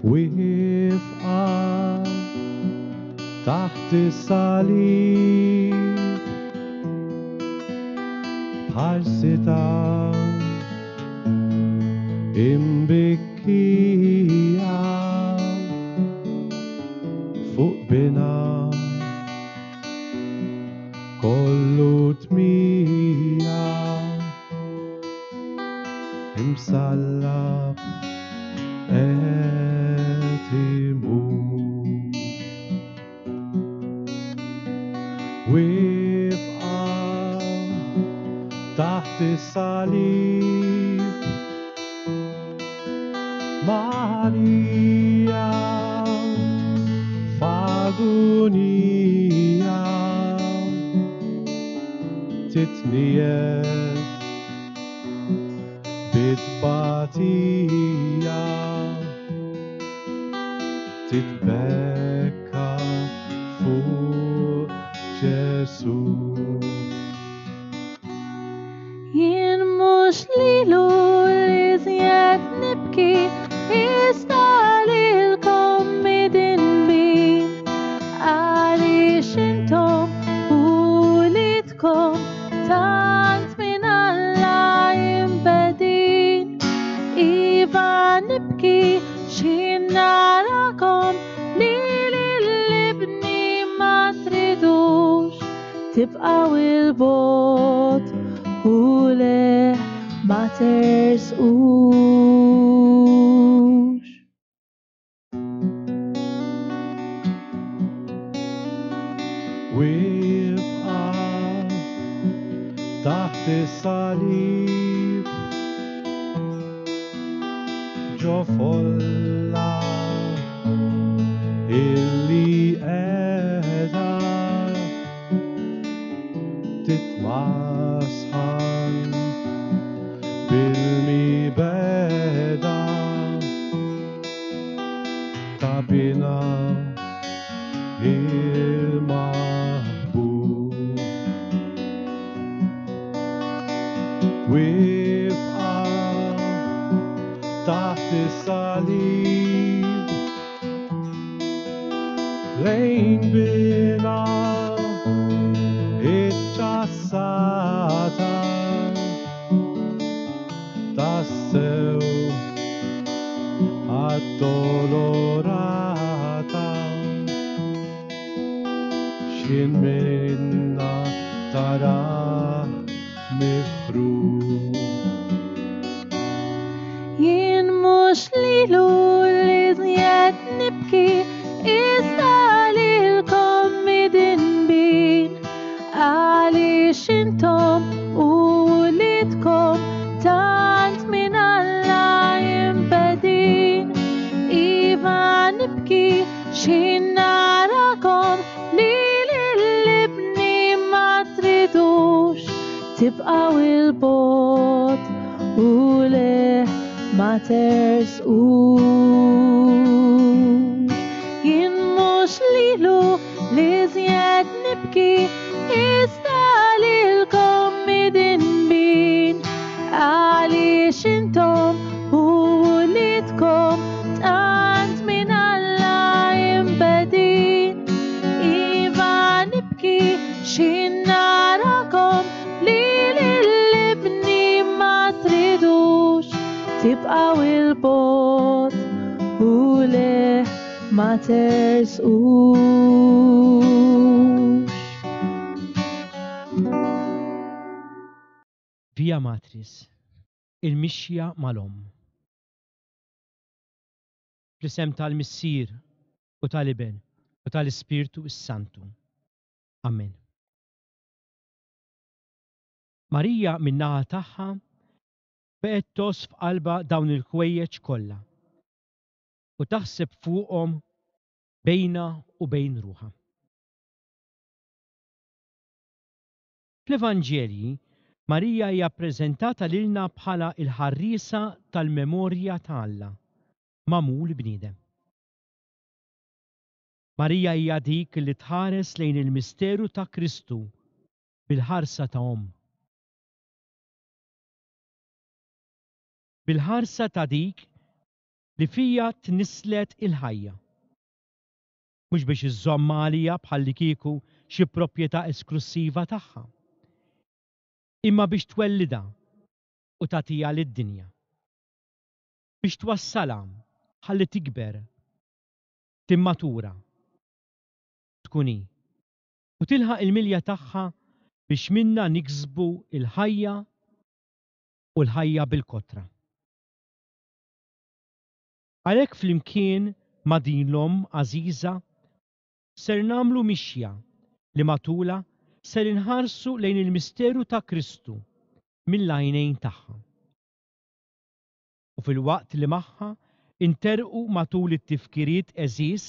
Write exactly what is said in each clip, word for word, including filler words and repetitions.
Wifqa taħt is-salib bħal sita imbikkija fuq bina kollu tmija imsallab qed imut. Wifqa taħt is-salib Marija f'agunija titniet bit-tbatija titbekka fuq Ġesu. Jien mhux lilu li żjed nibki, iżda lilkom midinbin, għaliex intom uliedkom tant minn Alla imbegħdin. Iva nibki x'ħin narakom li lil-ibni ma tridux, tibqgħu il-bogħod u le ma tersqux. Wifqa taħt is-salib ġo folla illi qiegħda titmasħan bil-mibegħda ta' bina il-maħbub. Wifqa taħt is-salib lejn bina iċċassata tassew addolorata x'ħin minna tara mifrud. Jien mhux lilu li żjed nibki, iżda lilkom midinbin, għaliex intom uliedkom tant minn Alla imbegħdin. Iva nibki x'ħin narakom li lil-ibni ma tridux, tibqgħu il-bogħod u le ma tersqux. Jien mhux lilu li żjed nibki, iżda lilkom midinbin, għaliex intom uliedkom tant minn Alla imbegħdin. Iva nibki x'ħin narakom li lil-ibni ma tridux, tibqgħu il-bogħod u le ma tersqux. Via Matris, il-mixja mal-omm. Fl-isem tal-Missier u tal-Iben u tal-Ispirtu s-Santu. Amen. Marija min-naħa tagħha baqgħet tgħożż f'qalbha dawn il-ħwejjeġ kollha u taħseb fuqhom bejna u bejn ruħha. Fl-Evanġelji, Marija hija ppreżentata lilna bħala l-ħarriesa tal-memorja ta' Alla, magħmul bniedem. Marija hija dik li tħares lejn il-misteru ta' Kristu bil-ħarsa ta' omm. Bil-ħarsa ta' dik li fija tnisslet il-ħajja. Mhux biex iżżommha għaliha bħallikieku xi proprjetà esklussiva tagħha, imma biex twellidha u tagħtiha lid-dinja. Biex twassalha ħalli tikber, timmatura, tkun hi u tilħaq il-milja tagħha biex minna niksbu il-ħajja u l-ħajja bil-kotra. Għalhekk flimkien ma' din l-omm għażiża ser nagħmlu mixja li matulha ser inħarsu lejn il-misteru ta' Kristu mill-għajnejn tagħha. U filwaqt li magħha interqu matul it-tifkiriet għeżież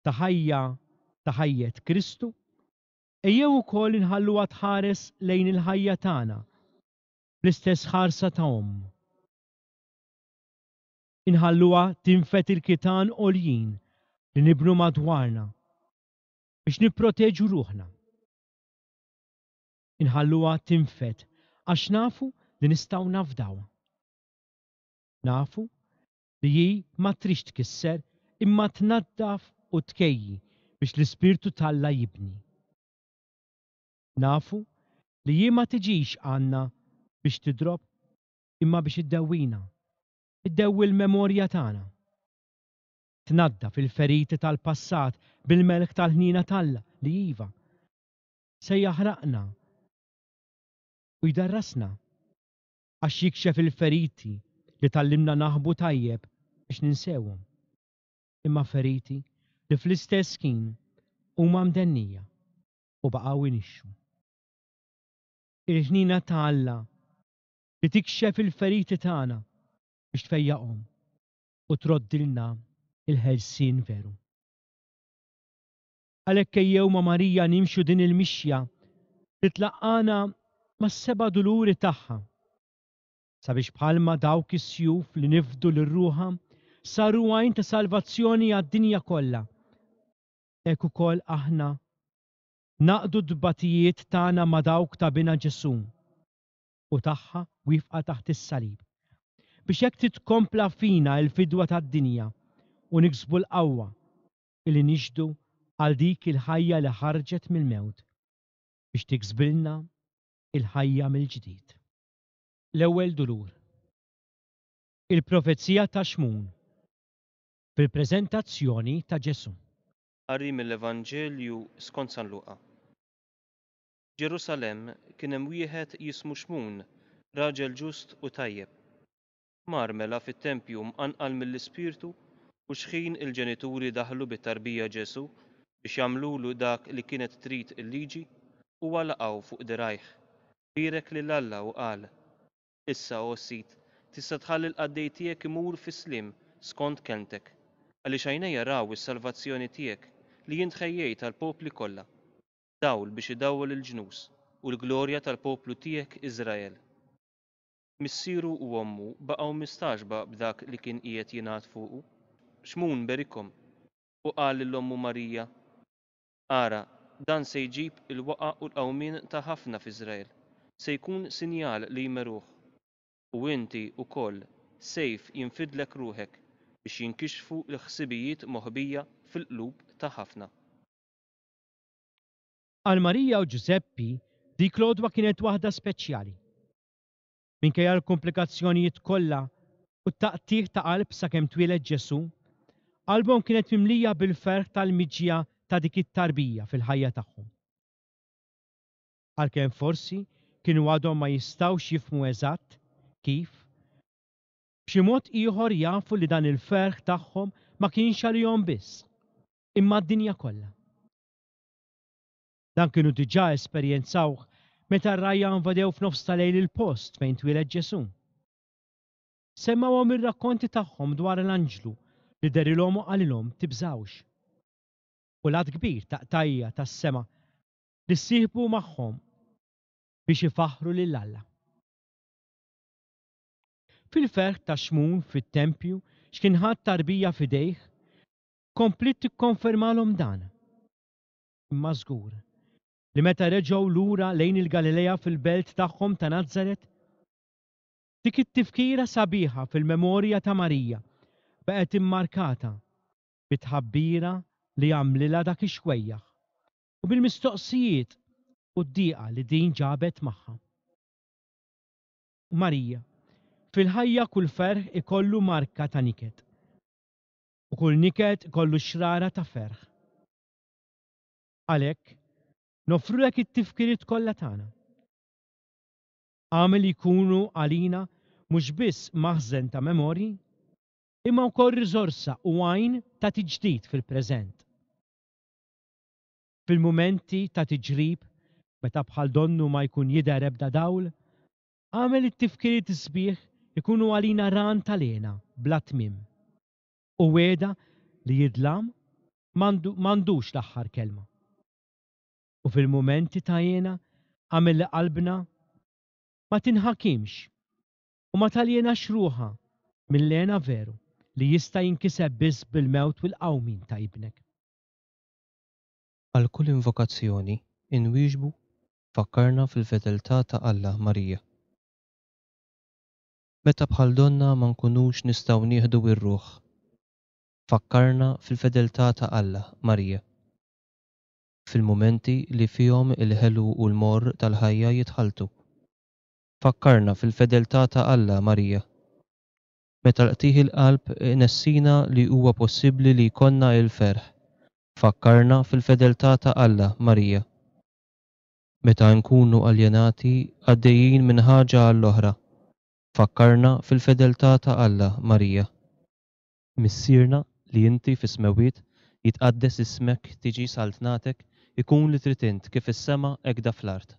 ta' ħajja ta' ħajjet Kristu, ejjew ukoll inħalluha tħares lejn il-ħajja tagħna bl-istess ħarsa ta' omm. Inħalluha tinfed il-kitan għoljin li nibnu madwarna biex nipproteġu ruħna. Inħalluha tinfed għax nafu li nistgħu nafdawha. Nafu li hi ma tridx tkisser imma tnaddaf u tkejji biex l-Ispirtu t'Alla jibni. Nafu li hi ma tiġix għandna biex tidrob imma biex iddewwina, iddewwi l-memorja tagħna. Tnaddaf il-feriti tal-passat bil-melħ tal-ħniena t'Alla li iva se jaħraqna u jdarrasna għax jikxef il-feriti li tgħallimna naħbu tajjeb biex ninsewhom. Imma feriti li fl-istess ħin huma mdennija u baqgħu inixxu. Il-ħniena ta' Alla li tikxef il-feriti tagħna biex tfejjaqhom u troddilna il-ħelsien veru. Għalhekk ejjew ma' Marija nimxu din il-mixja li tlaqqana mas-seba' duluri tagħha, sabiex bħalma dawk is-sjuf li nifdu lil ruħha saru għajn ta' salvazzjoni għad-dinja kollha, hekk ukoll aħna naqdu d-tbatijiet tagħna ma' dawk ta' bina Ġesù u tagħha wifqa taħt is-salib, biex hekk titkompla fina l-fidwa tad-dinja u niksbu l-qawwa li nixhdu għal dik il-ħajja li ħarġet mill-mewt biex tiksbilna il-ħajja mill-ġdid. L-ewwel dulur. Il-profezija ta' Xmun fil-preżentazzjoni ta' Ġesù. Qari mill-Evanġelju skont San Luqa. Ġerusalemm kien hemm wieħed jismu Xmun, raġel ġust u tajjeb. Mar mela fit-tempju mqanqal mill-Ispirtu u xħin il-ġenituri daħlu bit-tarbija Ġesù biex jagħmlulu dak li kienet trid il-liġi, huwa laqgħu fuq dirgħajh. Bierek lil Alla u qal: Issa, o Sid, tista' tħalli l-qaddej tiegħek imur fis-sliem skont kelmtek, għaliex għajnejja raw is-salvazzjoni tiegħek li int ħejjejt għall-popli kollha, dawl biex idawwal il-ġnus u l-glorja tal-poplu tiegħek Iżrael. Missieru u ommu baqgħu mistagħġba b'dak li kien qiegħed jingħad fuqu. Xmun berikhom u qal lil ommu Marija: Ara, dan se jġib il-waqa' u l-qawmien ta' ħafna f'Iżrael, se jkun sinjal li jmeruh. U inti wkoll sejf jinfidlek ruħek biex jinkixfu l-ħsibijiet moħbija fil-qlub ta' ħafna. Għal Marija u Ġużeppi dik l-għodwa kienet waħda speċjali. Minkejja l-komplikazzjonijiet kollha u t-taqtigħ ta' qalb sakemm twieled Ġesù, qalbhom kienet mimlija bil-ferħ tal-miġja ta' dik it-tarbija fil-ħajja tagħhom. Għalkemm forsi kienu għadhom ma jistgħux jifhmu eżatt kif, b'xi mod ieħor jafu li dan il-ferħ tagħhom ma kienx għalihom biss, imma d-dinja kollha. Dan kienu diġà esperjenzawh meta r-rgħajja invadew f'nofs tal-lejl il-post fejn twieled Ġesù. Semmawhom ir-rakkonti tagħhom dwar l-anġlu li dehrilhom u qalilhom tibżgħux. U l-għadd kbir ta' qtajja tas-sema li ssieħbu magħhom biex ifaħħru lil Alla. Fil-ferħ ta' Xmun fit-tempju x'kien ħadd tarbija f'idejh, kompliet tikkonfermalhom dan. Imma żgur li meta reġgħu lura lejn il-Galilea fil-belt tagħhom ta' Nazaret, dik it-tifkira sabiħa fil-memorja ta' Marija baqgħet immarkata bit-tħabbira li għamlilha dak ix-xwejjaħ u bil-mistoqsijiet u d-dieqa li din ġabet magħha. Marija, fil-ħajja kull ferħ ikollu marka ta' niket u kull niket ikollu xrara ta' ferħ. Għalhekk, noffrulek it-tifkiriet kollha tagħna. Agħmel li jkunu għalina mhux biss maħżen ta' memorji, imma wkoll riżorsa u għajn ta' tiġdid fil-preżent. Fil-mumenti ta' tiġrib, meta bħal donnu ma jkun jidher ebda dawl, agħmel it-tifkiriet sbieħ ikunu għalina ran tal-hena bla tmiem u wegħda li id-dlam m'għandux l-aħħar kelma. U fil-mumenti ta' hena agħmel li qalbna ma tinħakimx u ma taljenax ruħha mill-hena veru li jista' jinkiseb biss bil-mewt u l-qawmien ta' ibnek. Għal kull invokazzjoni inwieġbu fakkarna fil-fedeltà ta' Alla, Marija. Meta bħal donna ma nkunux nistgħu nieħdu r-ruħ, fakkarna fil-fedeltà ta' Alla, Marija. Fil-mumenti li fihom il-ħelu u l-morr tal-ħajja jitħalltu, fakkarna fil-fedeltà ta' Alla, Marija. Meta l-qtigħ il-qalb inessina li huwa possibbli li jkollna il-ferħ, fakkarna fil-fedeltà ta' Alla, Marija. Meta nkunu aljenati għaddejjin minn ħaġa għall-oħra, fakkarna fil-fedeltà ta' Alla, Marija. Missierna li inti fis-smewwiet, jitqaddes ismek, tiġi saltnatek, ikun li trid int kif is-sema hekk da fl-art.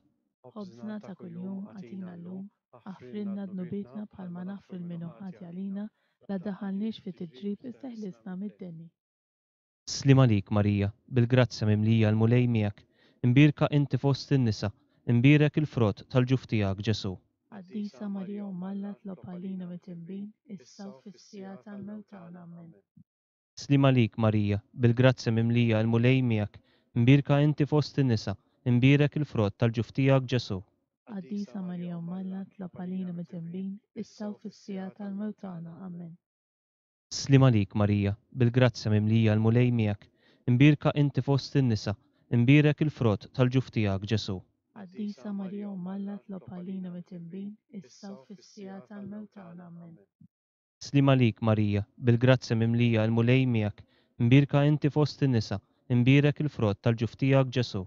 Ħobżna ta' kuljum agħtina llum, aħfrilna dnubietna bħalma naħfru lil min hu ħati għalina, la ddaħħalniex fi tiġrib iżda ħlisna mid-deni. Sliem għalik, Marija, bil-grazzja mimlija l-Mulej miegħek, imbierka inti fost in-nisa, imbierek il-frott tal-ġuf tiegħek, Ġesù. Qaddisa Marija Omm Alla, tlob għalina midinbin, issa u fis-siegħa tal-mewt tagħna. Amen. Sliem għalik, Marija, bil-grazzja mimlija l-Mulej miegħek, imbierka inti fost in-nisa, imbierek il-frott tal-ġuf tiegħek, Ġesù. Qaddisa Marija Omm Alla, tlob għalina midinbin, issa u fis-siegħa tal-mewt tagħna. Amen. Sliem għalik, Marija, bil-grazzja mimlija l-Mulej miegħek, imbierka inti fost in-nisa, imbierek il-frott tal-ġuf tiegħek, Ġesù. Qaddisa Marija Omm Alla, tlob għalina midinbin, issa u fis-siegħa tal-mewt tagħna. Amen. Sliem għalik, Marija, bil-grazzja mimlija l-Mulej miegħek, imbierka inti fost in-nisa, imbierek il-frott tal-ġuf tiegħek, Ġesù.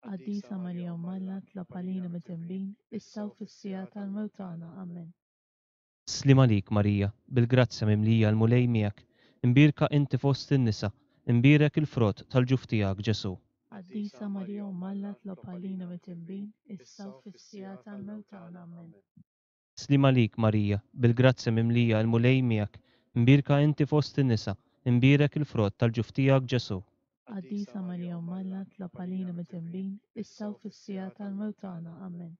Qaddisa Marija Omm Alla, tlob għalina midinbin, issa u fis-siegħa tal-mewt tagħna. Amen. Sliem għalik, Marija, bil-grazzja mimlija l-Mulej miegħek, imbierka inti fost in-nisa, imbierek il-frott tal-ġuf tiegħek, Ġesù. Qaddisa Marija Omm Alla, tlob għalina midinbin, issa u fis-siegħa tal-mewt tagħna. Amen. Sliem għalik, Marija, bil-grazzja mimlija l-Mulej miegħek, imbierka inti fost in-nisa, imbierek il-frott tal-ġuf tiegħek, Ġesù. Qaddisa Marija Omm Alla, tlob għalina midinbin, issa u fis-siegħa tal-mewt tagħna. Amen.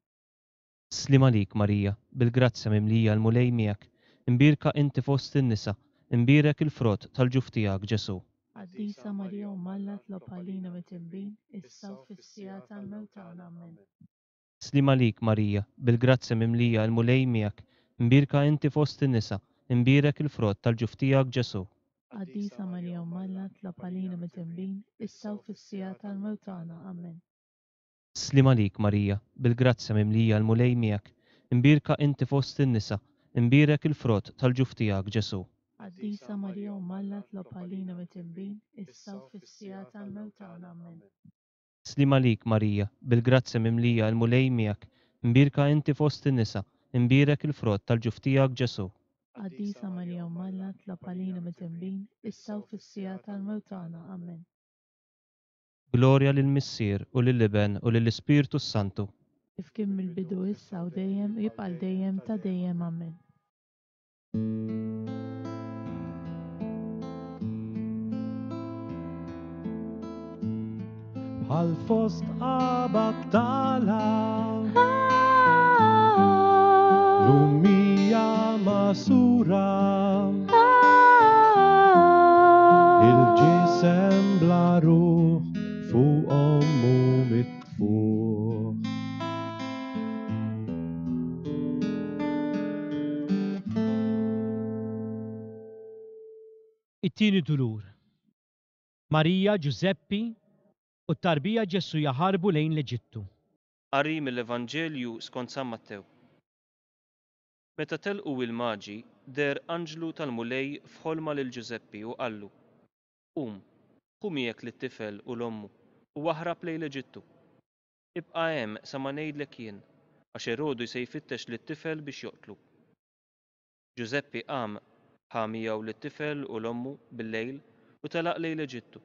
Sliem għalik, Marija, bil-grazzja mimlija l-Mulej miegħek, imbierka inti fost in-nisa, imbierek il-frott tal-ġuf tiegħek, Ġesù. Qaddisa Marija Omm Alla, tlob għalina midinbin, issa u fis-siegħa tal-mewt tagħna. Amen. Sliem għalik, Marija, bil-grazzja mimlija l-Mulej miegħek, imbierka inti fost in-nisa, imbierek il-frott tal-ġuf tiegħek, Ġesù. Qaddisa Marija Omm Alla, tlob għalina midinbin, issa u fis-siegħa tal-mewt tagħna. Amen. Sliem għalik, Marija, bil-grazzja mimlija l-Mulej miegħek, imbierka inti fost in-nisa, imbierek il-frott tal-ġuf tiegħek, Ġesù. Qaddisa Marija Omm Alla, tlob għalina midinbin, issa u fis-siegħa tal-mewt tagħna. Amen. Sliem għalik, Marija, bil-grazzja mimlija l-Mulej miegħek, imbierka inti fost in-nisa, imbierek il-frott tal-ġuf tiegħek, Ġesù. Qaddisa Marija Omm Alla, tlob għalina midinbin, issa u fis-siegħa tal-mewt tagħna. Amen. Glorja lill-Missier u lill-Iben u lill-Ispirtu s-Santu. Kif kien mill-bidu issa u dejjem u jibqa' l dejjem ta' dejjem. Amen. Bħal fost qabattala Lumija masura Il-ġisem bla ruħ fuq ommu mitfuħ. It-tieni dulur. Marija, Ġużeppi u t-tarbija Ġesù jaħarbu lejn l-Eġittu. Qari mill-Evanġelju skont San Mattew. Meta telqu il-Maġi, deher anġlu tal-Mulej f'ħolma lil Ġużeppi u qallu: Qum, ħu miegħek lit-tifel u 'l ommu u aħrab lejn l-Eġittu. Ibqa' hemm sa ma ngħidlek jien, għax Erodu se jfittex lit-tifel biex joqtlu. Ġużeppi qam, ħa miegħu lit-tifel u 'l ommu bil-lejl u telaq lejn l-Eġittu,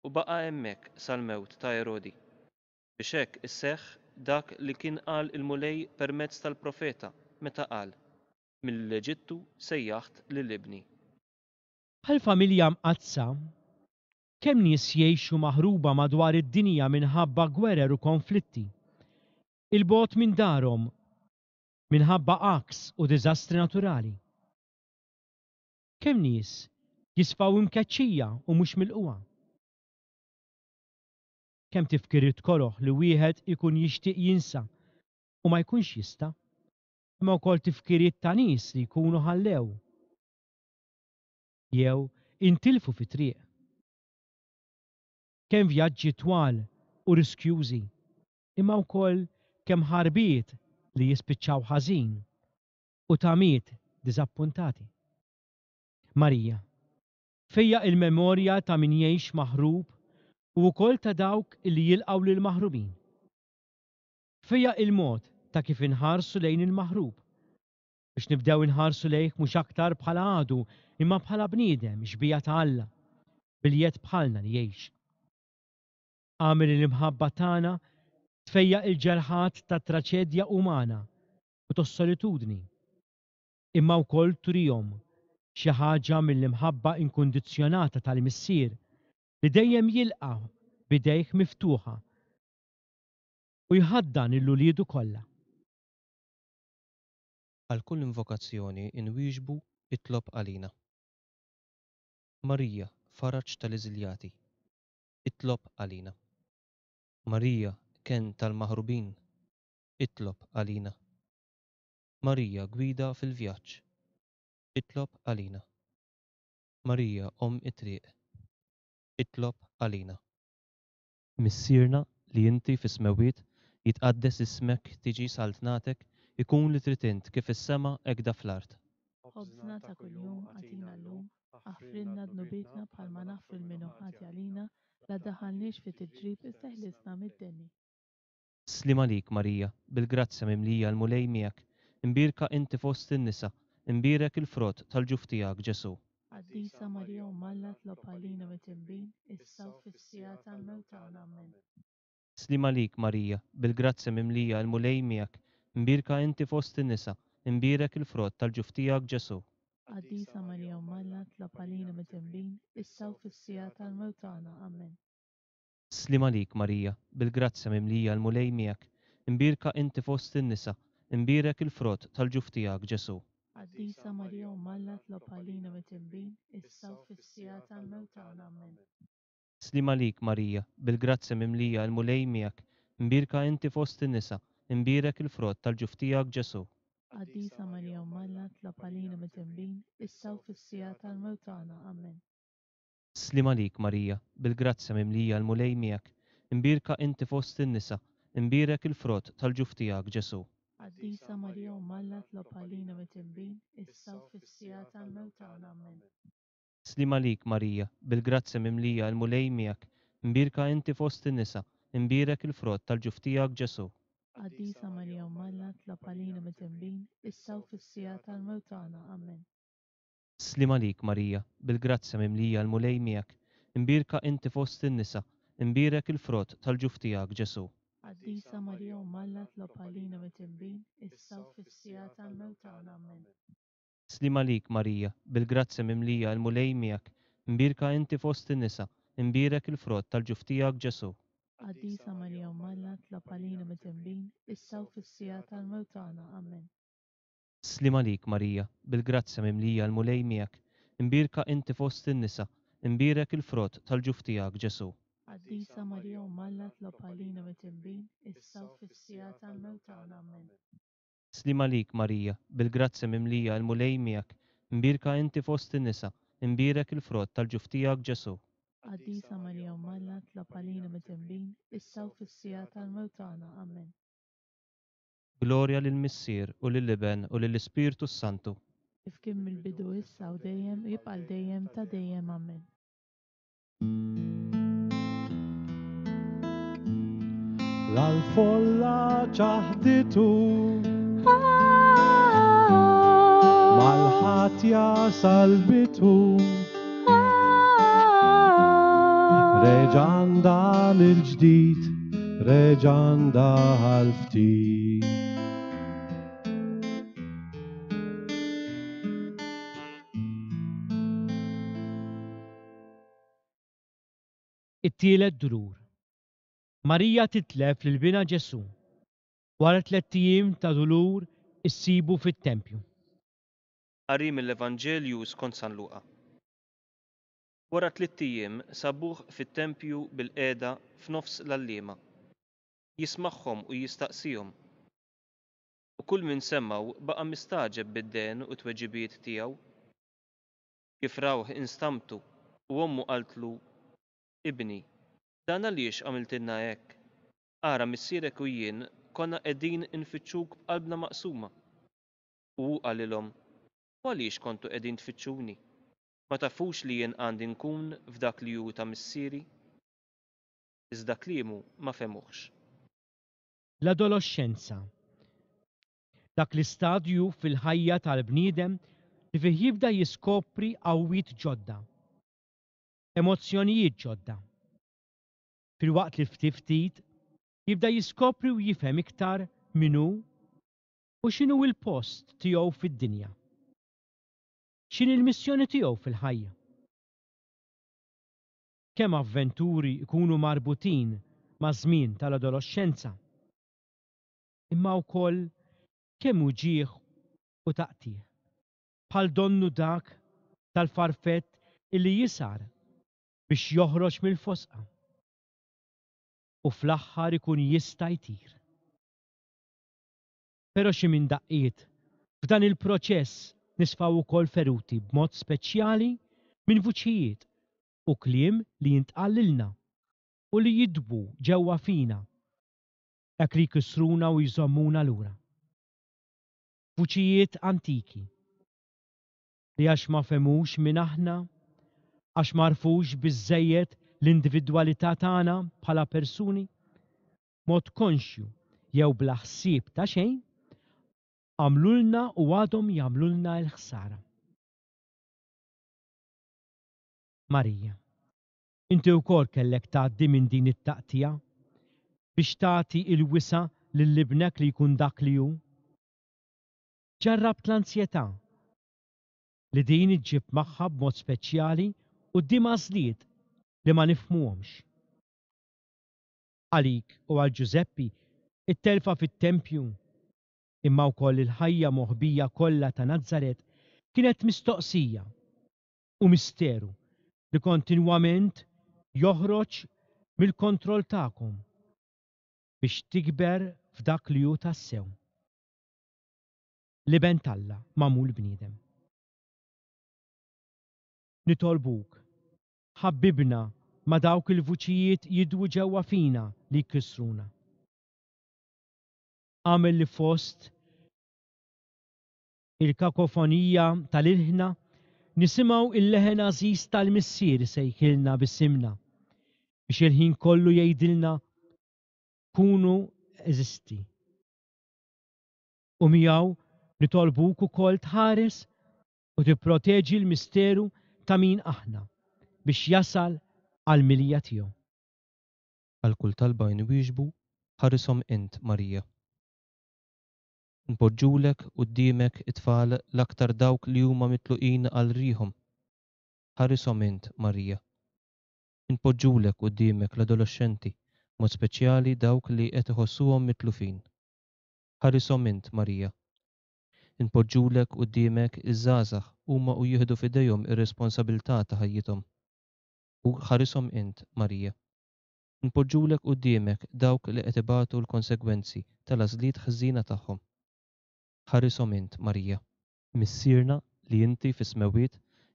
u baqa' hemmhekk sal-mewt ta' Erodi, biex hekk isseħħ dak li kien qal il-Mulej permezz tal-profeta meta qal: Mill-Eġittu sejjaħt lil ibni. Bħal familja mqaddsa, kemm nies jgħixu maħruba madwar id-dinja minħabba gwerer u konflitti, il-bogħod minn darhom minħabba għaks u diżastri naturali. Kemm nies jisfaw imkeċċija u mhux milquha. Kemm tifkiriet koroh li wieħed ikun jixtieq jinsa u ma jkunx jista', imma wkoll tifkiriet ta' nies li jkunu ħallew jew intilfu fi triq. Kemm vjaġġi twal u riskjużi, imma wkoll kemm ħarbiet li jispiċċaw ħażin u tamiet diżappuntati. Marija, fejjaq il-memorja ta' min jgħix maħrub u wkoll ta' dawk li jilqgħu lil maħrubin. Fejjaq il-mod ta' kif inħarsu lejn il-maħrub, biex nibdew inħarsu lejh mhux aktar bħala għadu imma bħala bniedem xbieha ta' Alla, bil-jedd bħalna li jgħix. Agħmel l-imħabba tagħna tfejjaq il-ġerħat ta' traċedja umana u tas-solitudni, imma wkoll turihom xi ħaġa mill-imħabba inkundizzjonata tal-Missier li dejjem jilqa' b'idejh miftuħa u jħaddan lil uliedu kollha. Għal kull invokazzjoni nwieġbu itlob għalina. Marija, faraġ tal-eżiljati, itlob għalina. Marija, kenn tal-maħrubin, itlob għalina. Marija, gwida fil-vjaġġ, itlob għalina. Marija, omm it-triq, itlob għalina. Missierna li inti fis-smewwiet, jitqaddes ismek, tiġi saltnatek, ikun li trid int kif is-sema hekk fl-art. Ħobżna ta' kuljum agħtina llum, aħfrilna dnubietna bħalma naħfru lil min hu ħati għalina, la ddaħħalniex fi tiġrib iżda eħlisna mid-deni. Sliem għalik Marija, bil-grazzja mimlija l-Mulej miegħek, imbierka inti fost in-nisa, imbierek il-frott tal-ġuf tiegħek Ġesù. Qaddisa Marija Omm Alla tlob għalina midinbin, issa u fis-siegħa tal-mewt tagħna. Amen. Sliem għalik Marija, bil-grazzja mimlija l-Mulej miegħek, imbierka inti fost in-nisa, imbierek il-frott tal-ġuf tiegħek Ġesù. Qaddisa Marija Omm Alla tlob għalina midinbin, issa u fis-siegħa tal-mewt tagħna. Amen. Sliem għalik Marija, bil-grazzja mimlija l-Mulej miegħek, imbierka inti fost in-nisa, imbierek il-frott tal-ġuf tiegħek Ġesù. Qaddisa Marija Omm Alla tlob għalina midinbin, issa u fis-siegħa tal-mewt tagħna. Amen. Sliem għalik Marija, bil-grazzja mimlija l-Mulej miegħek, imbierka inti fost in-nisa, imbierek il-frott tal-ġuf tiegħek Ġesù. Qaddisa Marija Omm Alla tlob għalina midinbin, issa u fis-siegħa tal-mewt tagħna. Amen. Sliem għalik Marija, bil-grazzja mimlija l-Mulej miegħek, imbierka inti fost in-nisa, imbierek il-frott tal-ġuf tiegħek Ġesù. Qaddisa Marija Omm Alla tlob għalina midinbin, issa u fis-siegħa tal-mewt tagħna. Amen. Sliem għalik Marija, bil-grazzja mimlija l-Mulej miegħek, imbierka inti fost in-nisa, imbierek il-frott tal-ġuf tiegħek Ġesù. Qaddisa Marija Omm Alla tlob għalina midinbin, issa u fis-siegħa tal-mewt tagħna. Amen. Sliem għalik Marija, bil-grazzja mimlija l-Mulej miegħek, imbierka inti fost in-nisa, imbierek il-frott tal-ġuf tiegħek Ġesù. Qaddisa Marija Omm Alla tlob għalina midinbin, issa u fis-siegħa tal-mewt tagħna. Amen. Sliem għalik Marija, bil-grazzja mimlija l-Mulej miegħek, imbierka inti fost in-nisa, imbierek il-frott tal-ġuf tiegħek Ġesù. Qaddisa Marija Omm Alla tlob għalina midinbin, issa u fis-siegħa tal-mewt tagħna. Amen. Sliem għalik Marija, bil-grazzja mimlija l-Mulej miegħek, imbierka inti fost in-nisa, imbierek il-frott tal-ġuf tiegħek Ġesù. Qaddisa Marija Omm Alla tlob għalina midinbin, issa u fis-siegħa tal-mewt tagħna. Amen. Sliem għalik Marija, bil-grazzja mimlija l-Mulej miegħek, imbierka inti fost in-nisa, Imbierek il-frott tal-ġuf tiegħek Ġesù. Qaddisa Marija Omm Alla, itlob għalina midinbin, issa u fis-siegħa tal-mewt tagħna. Amen. Glorja lill-Missier u lill-Iben u lill-Ispirtu s-Santu. Kif kien mill-bidu issa u dejjem u jibqa' għal dejjem ta' dejjem. Amen. L-folla ċaħditu mal-ħatja salbitu reġanda mill-ġdid, reġanda għal-ftit. It-tielet dulur. Marija titlef lil binha Ġesù. Wara tlett ijiem ta' dulur issibu fit-tempju. Qari mill-Evanġelju skont San Luqa. Wara tlitt ijiem sabuh fit-tempju bil-qiegħda f'nofs l-għalliema. Jismagħhom u jistaqsihom. U kull min semgħu baqa' mistagħġeb bid-dehen u t-tweġibiet tiegħu. Kif rawh instamtu u ommu qaltlu: Ibni, dan għaliex għamiltilna hekk? Ara missierek u jien konna qegħdin infittxuk b'qalbna maqsuma. U hu qalilhom: U għaliex kontu qegħdin tfittxuni? Ma tafux li jien għandi nkun f'dak li hu ta' missieri? Iżda kliemu ma fehmuhx. L-adoloxxenza. Dak l-istadju fil-ħajja tal-bniedem li fih jibda jiskopri qawwiet ġodda, emozzjonijiet ġodda. Filwaqt li ftit ftit jibda jiskopri u jifhem iktar min hu u x'inhu l-post tiegħu fid-dinja. X'inhi l-missjoni tiegħu fil-ħajja. Kemm avventuri jkunu marbutin ma' żmien tal-adoloxxenza, imma wkoll kemm uġigħ u taqtigħ, bħal donnu dak tal-farfett illi jisar biex joħroġ mill-fosqa u fl-aħħar ikun jista' jtir. Però xi minn daqqiet f'dan il-proċess nisfaw ukoll feruti b'mod speċjali minn vuċijiet u kliem li jintqal lilna u li jidwu ġewwa fina, hekk li jkissruna u jżommuna lura. Vuċijiet antiki li għax ma fehmux min aħna, għax m'għarfux biżżejjed l-individwalità tagħna bħala persuni, mod konxju jew bla ħsieb ta' xejn, għamlulna u għadhom jagħmlulna l-ħsara. Marija, inti wkoll kellek tgħaddi minn din it-taqtija biex tagħti il-wisa' lil ibnek li jkun dak li hu. Ġarrabt l-ansjetà li din iġġib magħha b'mod speċjali quddiem għażliet li ma nifhmuhomx. Għalik u għal Ġużeppi, it-telfa fit-tempju, imma wkoll il-ħajja moħbija kollha ta' Nazaret kienet mistoqsija u misteru li kontinwament joħroġ mill-kontroll tagħkom biex tikber f'dak li hu tassew. L-Iben t'Alla magħmul bniedem. Nitolbuk, ħabbibna ma' dawk il-vuċijiet jidwu ġewwa fina li jkissruna. Għamel li fost il-kakofonija tal-ilħna nisimgħu il-leħen għażiż tal-Missier sejħilna bisimna biex il-ħin kollu jgħidilna kunu eżisti. U miegħu nitolbuk ukoll tħares u tipproteġi l-misteru ta' min aħna biex jasal għall-milja tiegħu. Għal kull talba nwieġbu, ħarishom int, Marija. Npoġġulek quddiemek it-tfal l-aktar dawk li huma mitluqin għal riħhom. Ħarishom int, Marija. Npoġġulek quddiemek l-adoloxxenti, mod speċjali dawk li qed iħossuhom mitlufin. Ħarishom int, Marija. Npoġġulek quddiemek iż-żgħażagħ huma u jieħdu f'idejhom ir-responsabilità ta' ħajjithom. U ħarishom int, Marija. Npoġġulek quddiemek dawk li qed ibatu l-konsegwenzi tal-għażliet ħżiena tagħhom. Ħarishom int, Marija. Missierna li inti fis-smewwiet,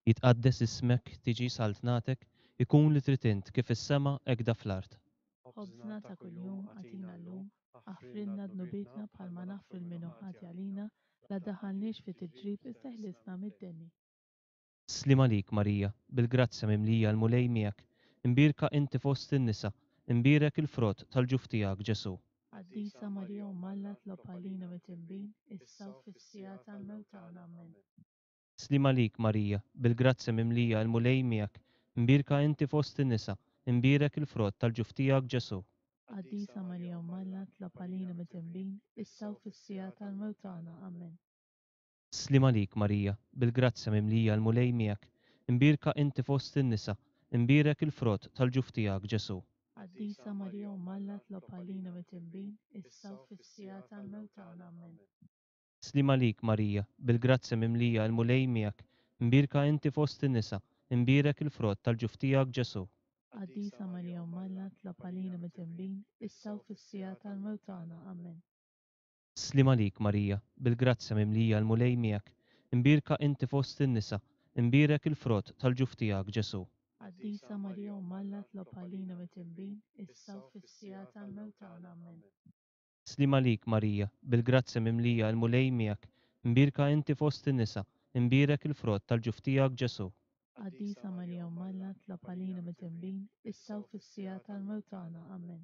Jitqaddes ismek, tiġi saltnatek, ikun li trid int kif fis-sema hekk da fl-art. Ħobżna ta' kuljum agħtina llum, aħfrilna dnubietna bħalma naħfru lil min hu ħati għalina, la ddaħħalniex fi tiġrib iżda eħlisna mid-deni. Sliem għalik Marija, bil-grazzja mimlija l-Mulej miegħek, imbierka inti fost in-nisa, imbierek il-frott tal-ġuf tiegħek Ġesù. Qaddisa Marija Omm Alla tlob għalina midinbin, issa u fis-siegħa tal-mewt tagħna. Amen. Sliem għalik Marija, bil-grazzja mimlija l-Mulej miegħek, imbierka inti fost in-nisa, imbierek il-frott tal-ġuf tiegħek Ġesù. Qaddisa Marija Omm Alla tlob għalina midinbin, issa u fis-siegħa tal-mewt tagħna. Amen. Sliem għalik Marija, bil-grazzja mimlija l-Mulej miegħek, imbierka inti fost in-nisa, imbierek il-frott tal-ġuf tiegħek Ġesù. Qaddisa Marija Omm Alla tlob għalina midinbin, issa u fis-siegħa tal-mewt tagħna. Amen. Sliem għalik Marija, bil-grazzja mimlija l-Mulej miegħek, imbierka inti fost in-nisa, imbierek il-frott tal-ġuf tiegħek Ġesù. Qaddisa Marija Omm Alla tlob għalina midinbin, issa u fis-siegħa tal-mewt tagħna. Amen. Sliem għalik Marija, bil-grazzja mimlija l-Mulej miegħek, imbierka inti fost in-nisa, imbierek il-frott tal-ġuf tiegħek Ġesù. Qaddisa Marija Omm Alla tlob għalina midinbin, issa u fis-siegħa tal-mewt tagħna. Amen. Sliem għalik Marija, bil-grazzja mimlija l-Mulej miegħek, imbierka inti fost in-nisa, imbierek il-frott tal-ġuf tiegħek Ġesù. Qaddisa Marija Omm Alla tlob għalina midinbin, issa u fis-siegħa tal-mewt tagħna. Amen.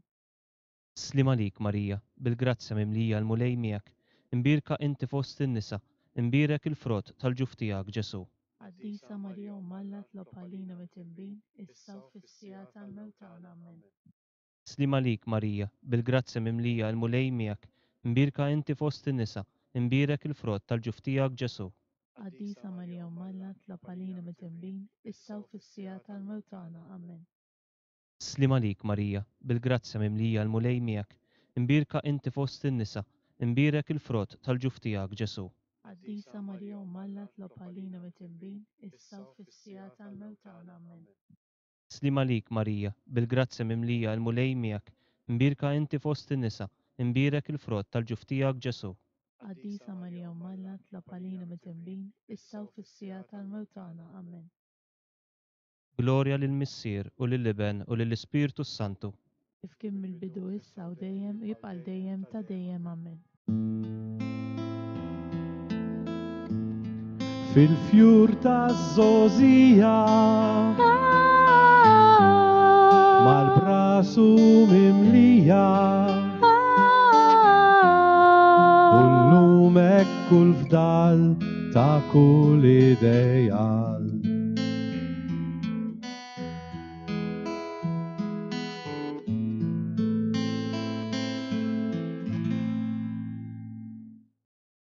Sliem għalik Marija, bil-grazzja mimlija l-Mulej miegħek, imbierka inti fost in-nisa, imbierek il-frott tal-ġuf tiegħek Ġesù. Qaddisa Marija Omm Alla tlob għalina midinbin, issa u fis-siegħa tal-mewt tagħna. Amen. Sliem għalik Marija, bil-grazzja mimlija l-Mulej miegħek, imbierka inti fost in-nisa, imbierek il-frott tal-ġuf tiegħek Ġesù. Qaddisa Marija Omm Alla tlob għalina midinbin, issa u fis-siegħa tal-mewt tagħna. Amen. Sliem għalik Marija, bil-grazzja mimlija l-Mulej miegħek, imbierka inti fost in-nisa, imbierek il-frott tal-ġuf tiegħek Ġesù. Qaddisa Marija Omm Alla tlob għalina midinbin, issa u fis-siegħa tal-mewt tagħna. Amen. Sliem għalik Marija, bil-grazzja mimlija l-Mulej miegħek, imbierka inti fost in-nisa, imbierek il-frott tal-ġuf tiegħek Ġesù. Qaddisa Marija Omm Alla tlob għalina midinbin, issa u fis-siegħa tal-mewt tagħna. Amen. Glorja lill-Missier u lill-Iben u lill-Ispirtu s-Santu. Kif kien mill-bidu issa u dejjem u jibqa' dejjem ta' dejjem. Amen. Fil-fjur taż-żgħożija mal-brasu mimlija u llum hekk kull fdal ta' kull ideal.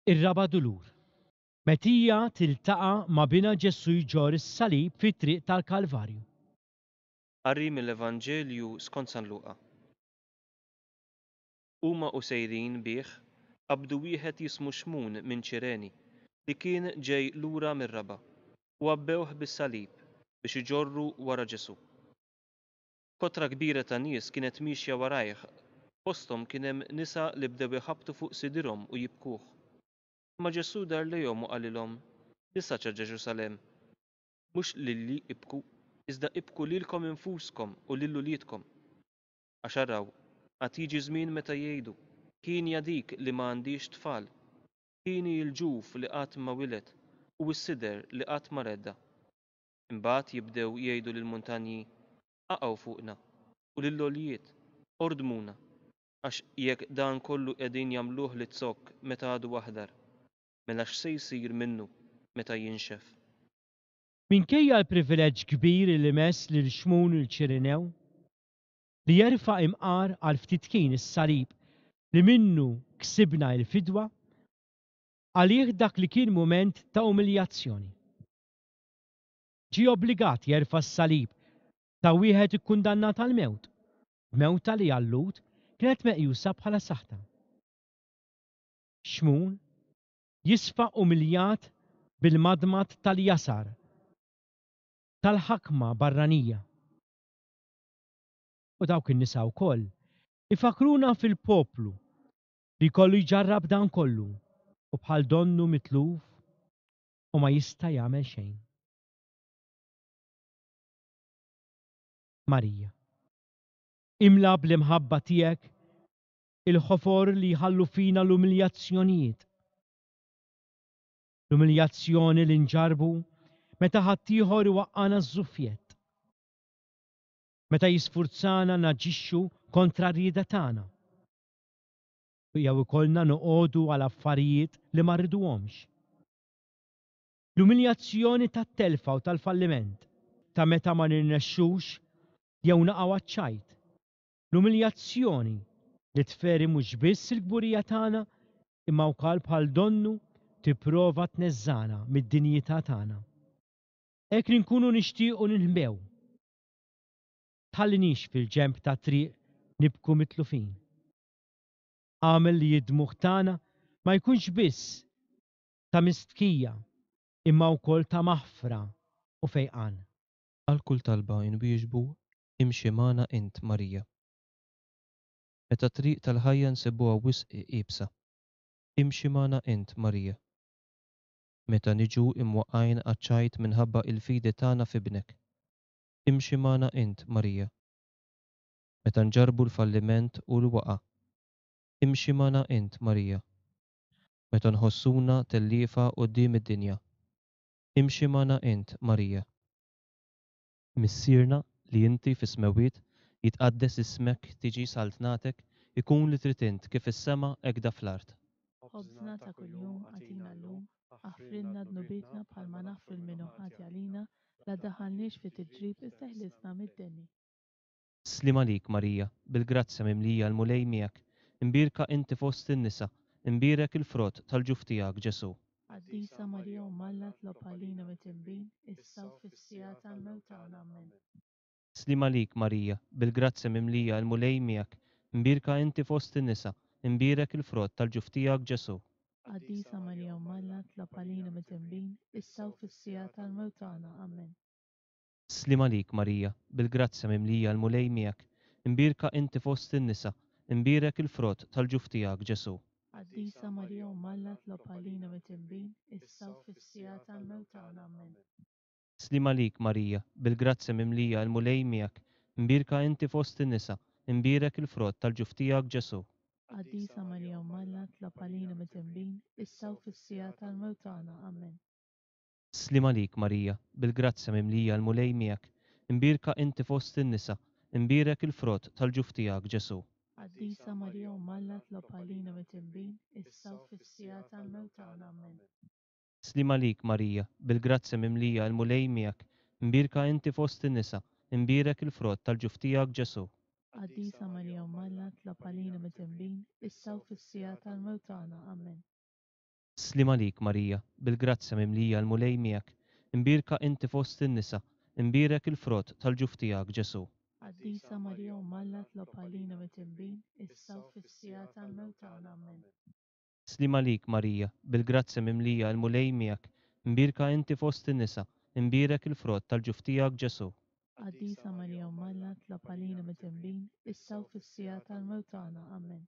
Ir-raba' dulur. Metija tiltaqa' ma' bina Ġesù jġorr is-salib fit-triq tal-Kalvarju. Qari mill-Evanġelju skont San Luqa. Huma u sejrin bih qabdu wieħed jismu Xmun minn Ċireni li kien ġej lura mir-raba' u għabbewh bis-salib biex iġorru wara Ġesù. Kotra kbira ta' nies kienet miexja warajh, fosthom kien hemm nisa li bdew iħabbtu fuq sidirhom u jibkuh. Imma Ġesù dar lejhom u qalilhom, Nisa ta' Ġerusalemm, mhux lili ibku, iżda ibku lilkom infuskom u lil uliedkom. Għax araw, għad jiġi żmien meta jgħidu, hienja dik li ma għandix tfal, hieni l-ġuf li qatt ma wiled u s-sider li qatt ma redda. Imbagħad jibdew jgħidu lill-muntanji, aqgħu fuqna, u lill-għoljiet, ordmuna, għax jekk dan kollu qegħdin jagħmluh lit-zokk meta għadu aħdar, mela x'se jsir minnu meta jinxef. Minkejja l-privileġġ kbir li mess lil Xmun il-Ċirinew, li jerfa' imqar għal ftit kien is-salib li minnu ksibna l-fidwa, għalih dak li kien mument ta' umiljazzjoni. Ġie obbligat jerfa' s-salib ta' wieħed ikkundannat għall-mewt, mewta li għal-Lhud kienet meqjusa bħala saħta. Xmun jisfa' umiljat bil-madmad tal-jasar, tal-ħakma barranija. U dawk in-nisa wkoll ifakruna fil-poplu li kollu jġarrab dan kollu u bħal donnu mitluf u ma jista' jagħmel xejn. Marija, imla bl-imħabba tiegħek il-ħofor li jħallu fina l-umiljazzjonijiet. L-umiljazzjoni li nġarbu meta ħaddieħor iwaqqana ż-żuffjett. Meta jisfurzana naġixxu kontra r-rieda tagħna. Jew ikollna noqogħdu għal affarijiet li ma rriduhomx. L-umiljazzjoni tat-telfa u tal-falliment, ta' meta ma nirnexxux jew naqgħu għaċ-ċajt. L-umiljazzjoni li tferi mhux biss il-kburija tagħna imma wkoll bħal donnu tipprova tneżżana mid-dinjità tagħna. Hekk li nkunu nixtiequ ninħbew. Tħallinix fil-ġenb ta' triq nibku mitlufin. Agħmel li d-dmugħ tagħna ma jkunx biss ta' mistħija imma wkoll ta' maħfra u fejqan. Għal kull talba nwieġbu imxi magħna int Marija. Meta t-triq tal-ħajja nsibuha wisq iebsa, imxi magħna int Marija. Meta niġu imwaqqajn għaċ-ċajt minħabba il-fidi tagħna f'ibnek, imxi magħna int Marija. Meta nġarbu l-falliment u l-waqa, imxi magħna int Marija. Meta nħossuna telliefa quddiem id-dinja, imxi magħna int Marija. Missierna li inti fis-smewwiet, jitqaddes ismek, tiġi saltnatek, ikun li trid int kif fis-sema hekk fl-art. Ħobżna ta' kuljum agħtina llum, aħfrilna dnubietna bħalma naħfru lil min hu ħati għalina, la ddaħħalniex fi tiġrib iżda eħlisna mid-deni. Sliem għalik Marija, bil-grazzja mimlija l-Mulej miegħek, imbierka inti fost in-nisa, imbierek il-frott tal-ġuf tiegħek Ġesù. Qaddisa Marija Omm Alla tlob għalina midinbin, issa u fis-siegħa tal-mewt tagħna. Amen. Sliem għalik Marija, bil-grazzja mimlija l-Mulej miegħek, imbierka inti fost in-nisa, imbierek il-frott tal-ġuf tiegħek Ġesù. Qaddisa Marija Omm Alla tlob għalina midinbin, issa u fis-siegħa tal-mewt tagħna. Amen. Sliem għalik Marija, bil-grazzja mimlija l-Mulej miegħek, imbierka inti fost in-nisa, imbierek il-frott tal-ġuf tiegħek Ġesù. Qaddisa Marija Omm Alla tlob għalina midinbin, issa u fis-siegħa tal-mewt tagħna. Amen. Sliem għalik Marija, bil-grazzja mimlija l-Mulej miegħek, imbierka inti fost in-nisa, imbierek il-frott tal-ġuf tiegħek Ġesù. Qaddisa Marija Omm Alla tlob għalina midinbin, issa u fis-siegħa tal-mewt tagħna. Amen. Sliem għalik Marija, bil-grazzja mimlija l-Mulej miegħek, imbierka inti fost in-nisa, imbierek il-frott tal-ġuf tiegħek Ġesù. Qaddisa Marija Omm Alla tlob għalina midinbin, issa u fis-siegħa tal-mewt tagħna. Amen. Sliem għalik Marija, bil-grazzja mimlija l-Mulej miegħek, imbierka inti fost in-nisa, imbierek il-frott tal-ġuf tiegħek Ġesù. Qaddisa Marija Omm Alla tlob għalina midinbin, issa u fis-siegħa tal-mewt tagħna. Amen. Sliem għalik Marija, bil-grazzja mimlija l-Mulej miegħek, imbierka inti fost in-nisa, imbierek il-frott tal-ġuf tiegħek Ġesù. Qaddisa Marija Omm Alla tlob għalina midinbin, issa u fis-siegħa tal-mewt tagħna. Amen. Sliem għalik Marija, bil-grazzja mimlija l-Mulej miegħek, imbierka inti fost in-nisa, imbierek il-frott tal-ġuf tiegħek Ġesù. Qaddisa Marija Omm Alla tlob għalina midinbin, issa u fis-siegħa tal-mewt tagħna. Amen.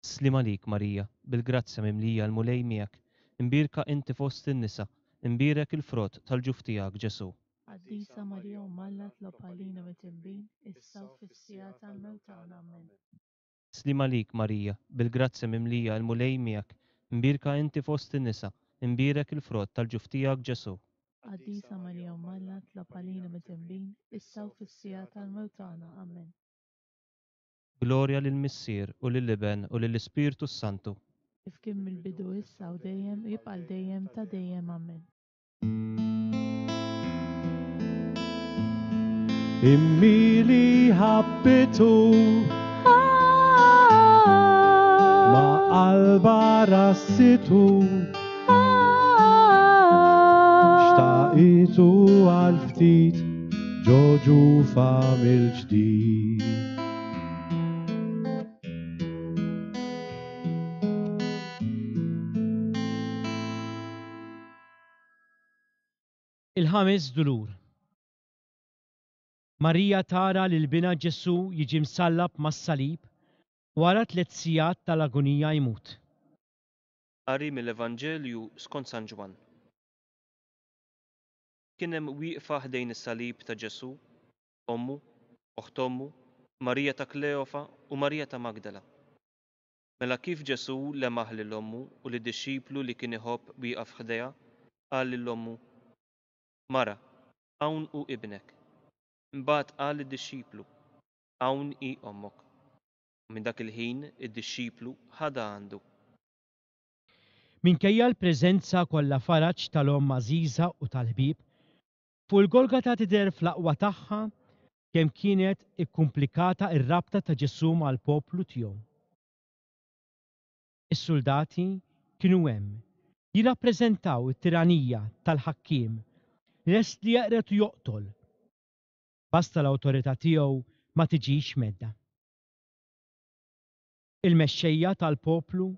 Sliem għalik Marija, bil-grazzja mimlija l-Mulej miegħek, imbierka inti fost in-nisa, imbierek il-frott tal-ġuf tiegħek Ġesù. Qaddisa Marija Omm Alla tlob għalina midinbin, issa u fis-siegħa tal-mewt tagħna. Amen. Sliem għalik Marija, bil-grazzja mimlija l-Mulej miegħek, imbierka inti fost in-nisa, imbierek il-frott tal-ġuf tiegħek Ġesù. Qaddisa Marija Omm Alla tlob għalina midinbin, issa u fis-siegħa tal-mewt tagħna. Amen. Glorja lill-Missier u lill-Iben u lill-Ispirtu s-Santu. Kif kien mill-bidu issa u dejjem u jibqa' għal dejjem ta' dejjem. Amen. Immi li ħabbitu ma qalba rassitu xtaqitu għal ftit ġo ġufa mill-ġdid. Il-ħames dulur. Marija tara lil binha Ġesù jiġi msallab mas-salib wara tliet sigħat tal-agonija jmut. Qari mill-Evanġelju skont San Ġwann. Kien hemm wieqfa ħdejn is-salib ta' Ġesù, ommu, oħt ommu, Marija ta' Kleofa u Marija ta' Magdala. Mela kif Ġesù lemaħ lil ommu u lid-dixxiplu li kien iħobb wieqaf ħdejha, qal lil ommu, Mara, hawn hu ibnek. Imbagħad qal lid-dixxiplu, Hawn hi ommok. U minn dak il-ħin id-dixxiplu ħadha għandu. Minkejja l-preżenza kollha faraġ tal-omm għażiża u tal-ħbieb, fuq il-Golgata tidher fl-aqwa tagħha kemm kienet ikkumplikata r-rabta ta' Ġesù mal-poplu tiegħu. Is-suldati kienu hemm, jirrappreżentaw it-tiranija tal-ħakkiem, lest li jeqred u joqtol, basta l-awtorità tiegħu ma tiġix mhedda. Il-mexxejja tal-poplu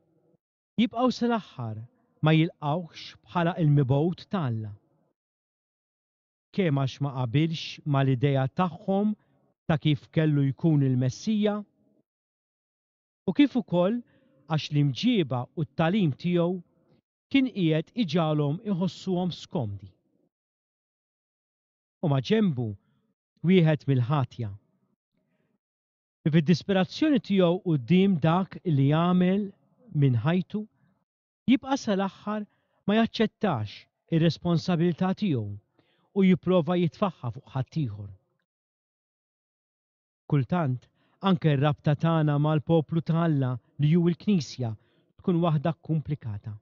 jibqgħu sal-aħħar ma jilqgħuhx bħala l-mibgħut ta' Alla. Kemm għax ma qabilx mal-idea tagħhom ta' kif kellu jkun il-Messija, u kif ukoll għax l-imġieba u t-tagħlim tiegħu kien qiegħed iġagħalhom iħossuhom skomdi. U ma' ġenbu wieħed mill-ħatja, li fid-disperazzjoni tiegħu quddiem dak li għamel minn ħajtu, jibqa' sal-aħħar ma jaċċettax ir-responsabilità tiegħu u jipprova jitfaħħa fuq ħaddieħor. Kultant, anke r-rabta tagħna mal-poplu ta' Alla li hu l-Knisja tkun waħda kkumplikata.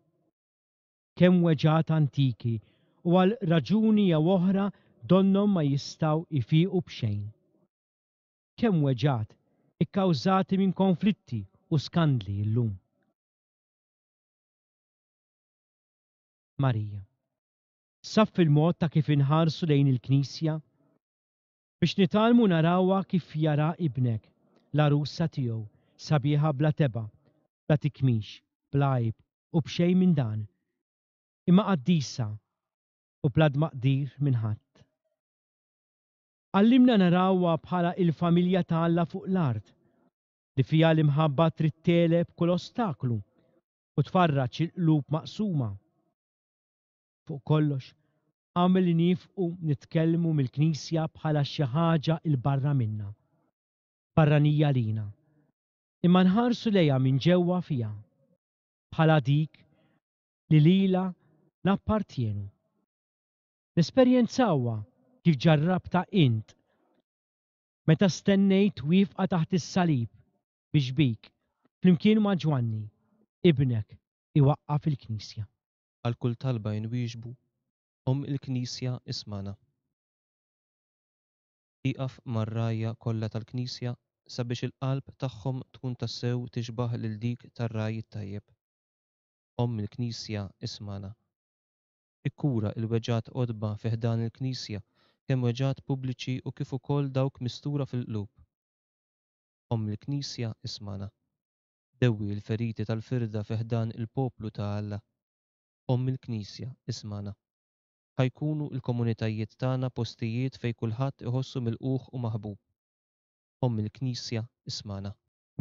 Kemm weġgħat antiki u għal raġuni jew oħra donnhom ma jistgħu jfiqu b'xejn. Kemm weġgħat ikkawżati minn konflitti u skandli llum. Marija. Saffi l-mod ta' kif inħarsu lejn il-Knisja biex nitgħallmu narawha kif jara ibnek, l-għarusa tiegħu, sabiħa bla tebgħa, bla tikmix, bla għajb u b'xejn minn dan, imma qaddisa u bla tmaqdir minn ħadd. Għallimna narawha bħala il-familja ta' Alla fuq l-art, li fiha l-imħabba trid tegħleb kull ostaklu u tfarraġ il-qlub maqsuma. Fuq kollox, agħmel li niefqu nitkellmu mill-Knisja bħala xi ħaġa 'l barra minna, barranija lina, imma nħarsu lejha minn ġewwa fiha, bħala dik li lilha nappartjenu. Nesperjenzawha kif ġarrabtha int meta stennejt wieqfa taħt is-salib biex bik, flimkien ma' Ġwanni, ibnek, iwaqqaf il-Knisja. Għal kull talba inwieġbu, Omm il-Knisja ismagħna. Ieqaf mar-rgħajja kollha tal-Knisja sabiex il-qalb tagħhom tkun tassew tixbah lil dik tar-ragħaj it-tajjeb. Omm il-Knisja ismagħna. Ikkura l-weġgħat qodba fi ħdan il-Knisja, kemm weġgħat pubbliċi u kif ukoll dawk mistura fil-qlub. Omm il-Knisja ismagħna. Dewwi l-feriti tal-firda fi ħdan il-poplu ta' Alla. Omm il-Knisja ismagħna. Ħa jkunu l-komunitajiet tagħna postijiet fejn kulħadd iħossu milqugħ u maħbub. Omm il-Knisja ismagħna.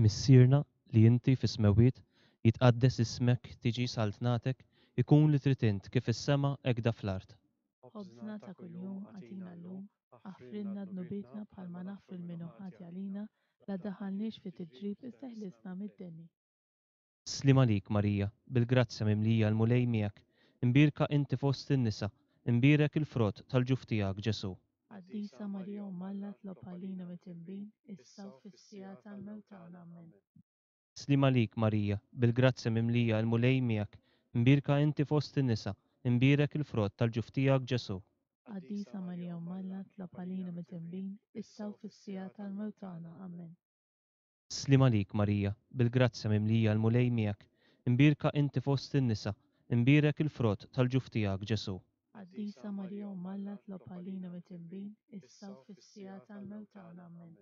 Missierna li inti fis-smewwiet, jitqaddes ismek, tiġi saltnatek, ikun li trid int kif fis-sema hekk da fl-art. Ħobżna ta' kuljum agħtina llum, aħfrilna dnubietna bħalma naħfru lil min hu ħati għalina, la ddaħħalniex fi tiġrib iżda ħlisna mid-deni. Sliem għalik Marija, bil-grazzja mimlija l-Mulej miegħek, imbierka inti fost in-nisa, imbierek il-frott tal-ġuf tiegħek Ġesù. Qaddisa Marija Omm Alla tlob għalina mitinbin, issa u fis-siegħa tal-mewt tagħna. Amen. Sliem għalik Marija, bil-grazzja mimlija l-Mulej miegħek, imbierka inti fost in-nisa, imbierek il-frott tal-ġuf tiegħek Ġesù. Qaddisa Marija Omm Alla tlob għalina mitinbin, issa u fis-siegħa tal-mewt tagħna. Amen. Sliem għalik Marija, bil-grazzja mimlija l-Mulej miegħek, imbierka inti fost in-nisa, imbierek il-frott tal-ġuf tiegħek Ġesù. Qaddisa Marija Omm Alla tlob għalina mitinbin, issa u fis-siegħa tal-mewt tagħna. Amen.